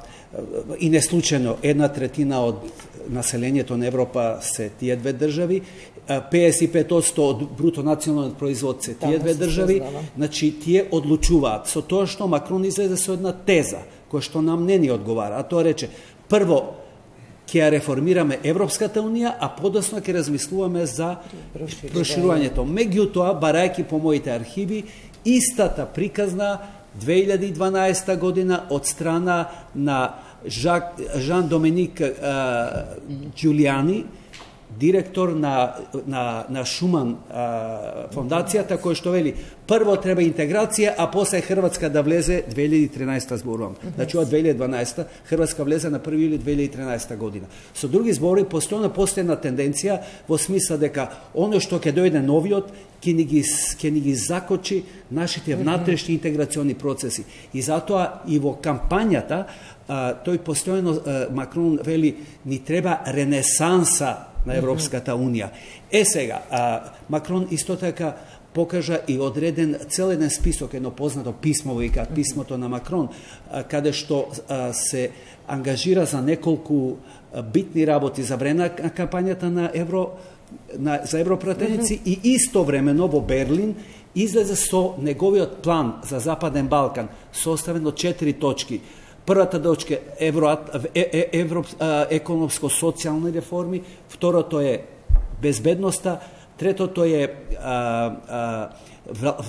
и не случајно една третина од населението на Европа се тие две држави, педесет и пет одсто од бруто националниот производ се тие две држави, значи тие одлучуваат со тоа што Макрон излезе со една теза која што нам не ни одговара, а тоа рече прво ќе ја реформираме Европската унија, а подоцна ќе размислуваме за проширувањето. Меѓутоа, барајќи по моите архиви, истата приказна две илјади и дванаесета година од страна на Жак, Жан Доминик Ѓулијани, директор на, на, на Шуман а, фондацијата, кој што вели прво треба интеграција, а после Хрватска да влезе две илјади и тринаесета зборувам. Значи од две илјади и дванаесета Хрватска влезе на први јули две илјади и тринаесета година. Со други збори, постојано постојна тенденција во смисла дека оно што ќе дојде новиот ќе ни ги ќе ни ги закочи нашите внатрешни интеграциони процеси. И затоа и во кампањата а, тој постојано а, Макрон вели ни треба ренесанса на Европската унија. Е сега, а, Макрон исто така покажа и одреден цел еден список, едно познато писмо, викаат писмото на Макрон, а, каде што а, се ангажира за неколку а, битни работи за време на кампањата на Евро на, за европратеници mm -hmm. и истовремено во Берлин излезе со неговиот план за Западен Балкан, составен од четири точки. Првата точка е евро, е, евро, економско-социјални реформи, второто е безбедноста, третото е а, а,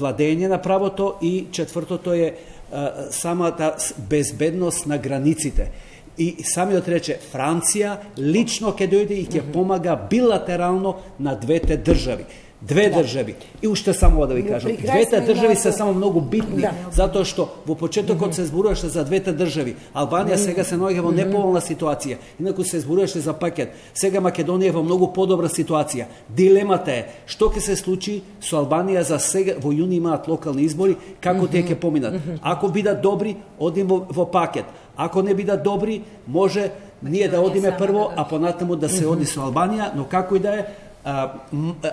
владење на правото и четвртото е а, самата безбедност на границите. И самиот рече Франција лично ќе дојде и ќе помага билатерално на двете држави. Две да. држави. И уште само да ви кажам, двете држави се само многу битни, да. затоа што во почетокот се зборуваше за двете држави. Албанија сега се наоѓа во неповолна ситуација, инаку се зборуваше за пакет. Сега Македонија е во многу подобра ситуација. Дилемата е што ќе се случи со Албанија за сега, во јуни имаат локални избори, како тие ќе поминат. Ако бидат добри, одим во, во пакет. Ако не бидат добри, може ние да одиме прво, а понатаму да се оди со Албанија, но како и да е, А,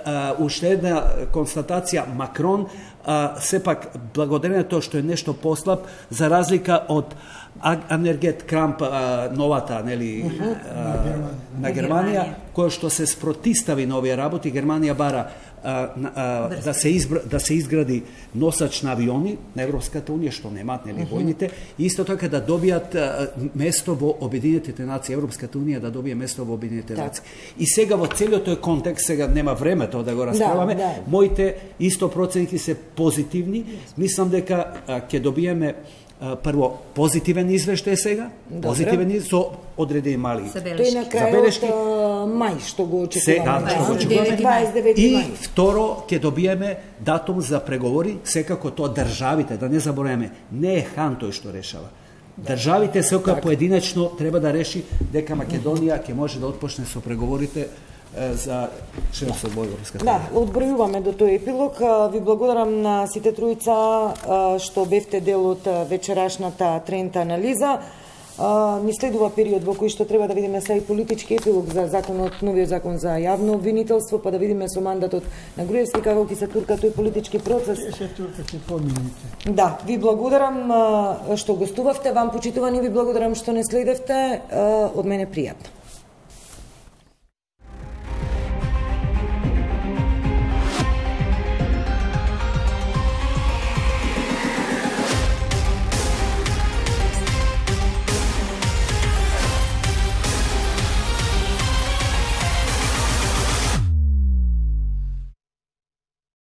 а, уште една констатација, Макрон а, сепак благодарение тоа што е нешто послаб за разлика од Анергет Крамп, а, новата нели uh -huh. а, на Германија, која што се спротистави на овие работи. Германија бара а, а, да се избра, да се изгради носач на авиони на Европската унија, што немаат нели војните, и исто така да добијат а, место во Обединетите нации, Европската унија да добие место во Обединетите нации. И сега во целиот тој контекст, сега нема време тоа да го расправаме, да, да. Моите исто проценки се позитивни. Мислам дека ќе добиеме прво позитивен извештај сега, добре. Позитивен извештај со одредени мали тој на крајот мај што го очекуваме. Сега, што го очекуваме. И второ ќе добиеме датум за преговори, секако тоа државите, да не забораваме, не е Хан тој што решава. државите секоја поединечно треба да реши дека Македонија ќе може да отпочне со преговорите за членство во Европската Да, одбројуваме до тој епилог. Ви благодарам на сите тројца што бевте дел од вечерашната трента анализа. Ни следува период во кој што треба да видиме сега и политички епилог за законот, новиот закон за јавно обвинителство, па да видиме со мандатот на Груевски како ќе се турка тој политички процес. Се турка ќе помините. Да, ви благодарам што гостувавте, вам почитувани ви благодарам што не следевте, од мене пријатно.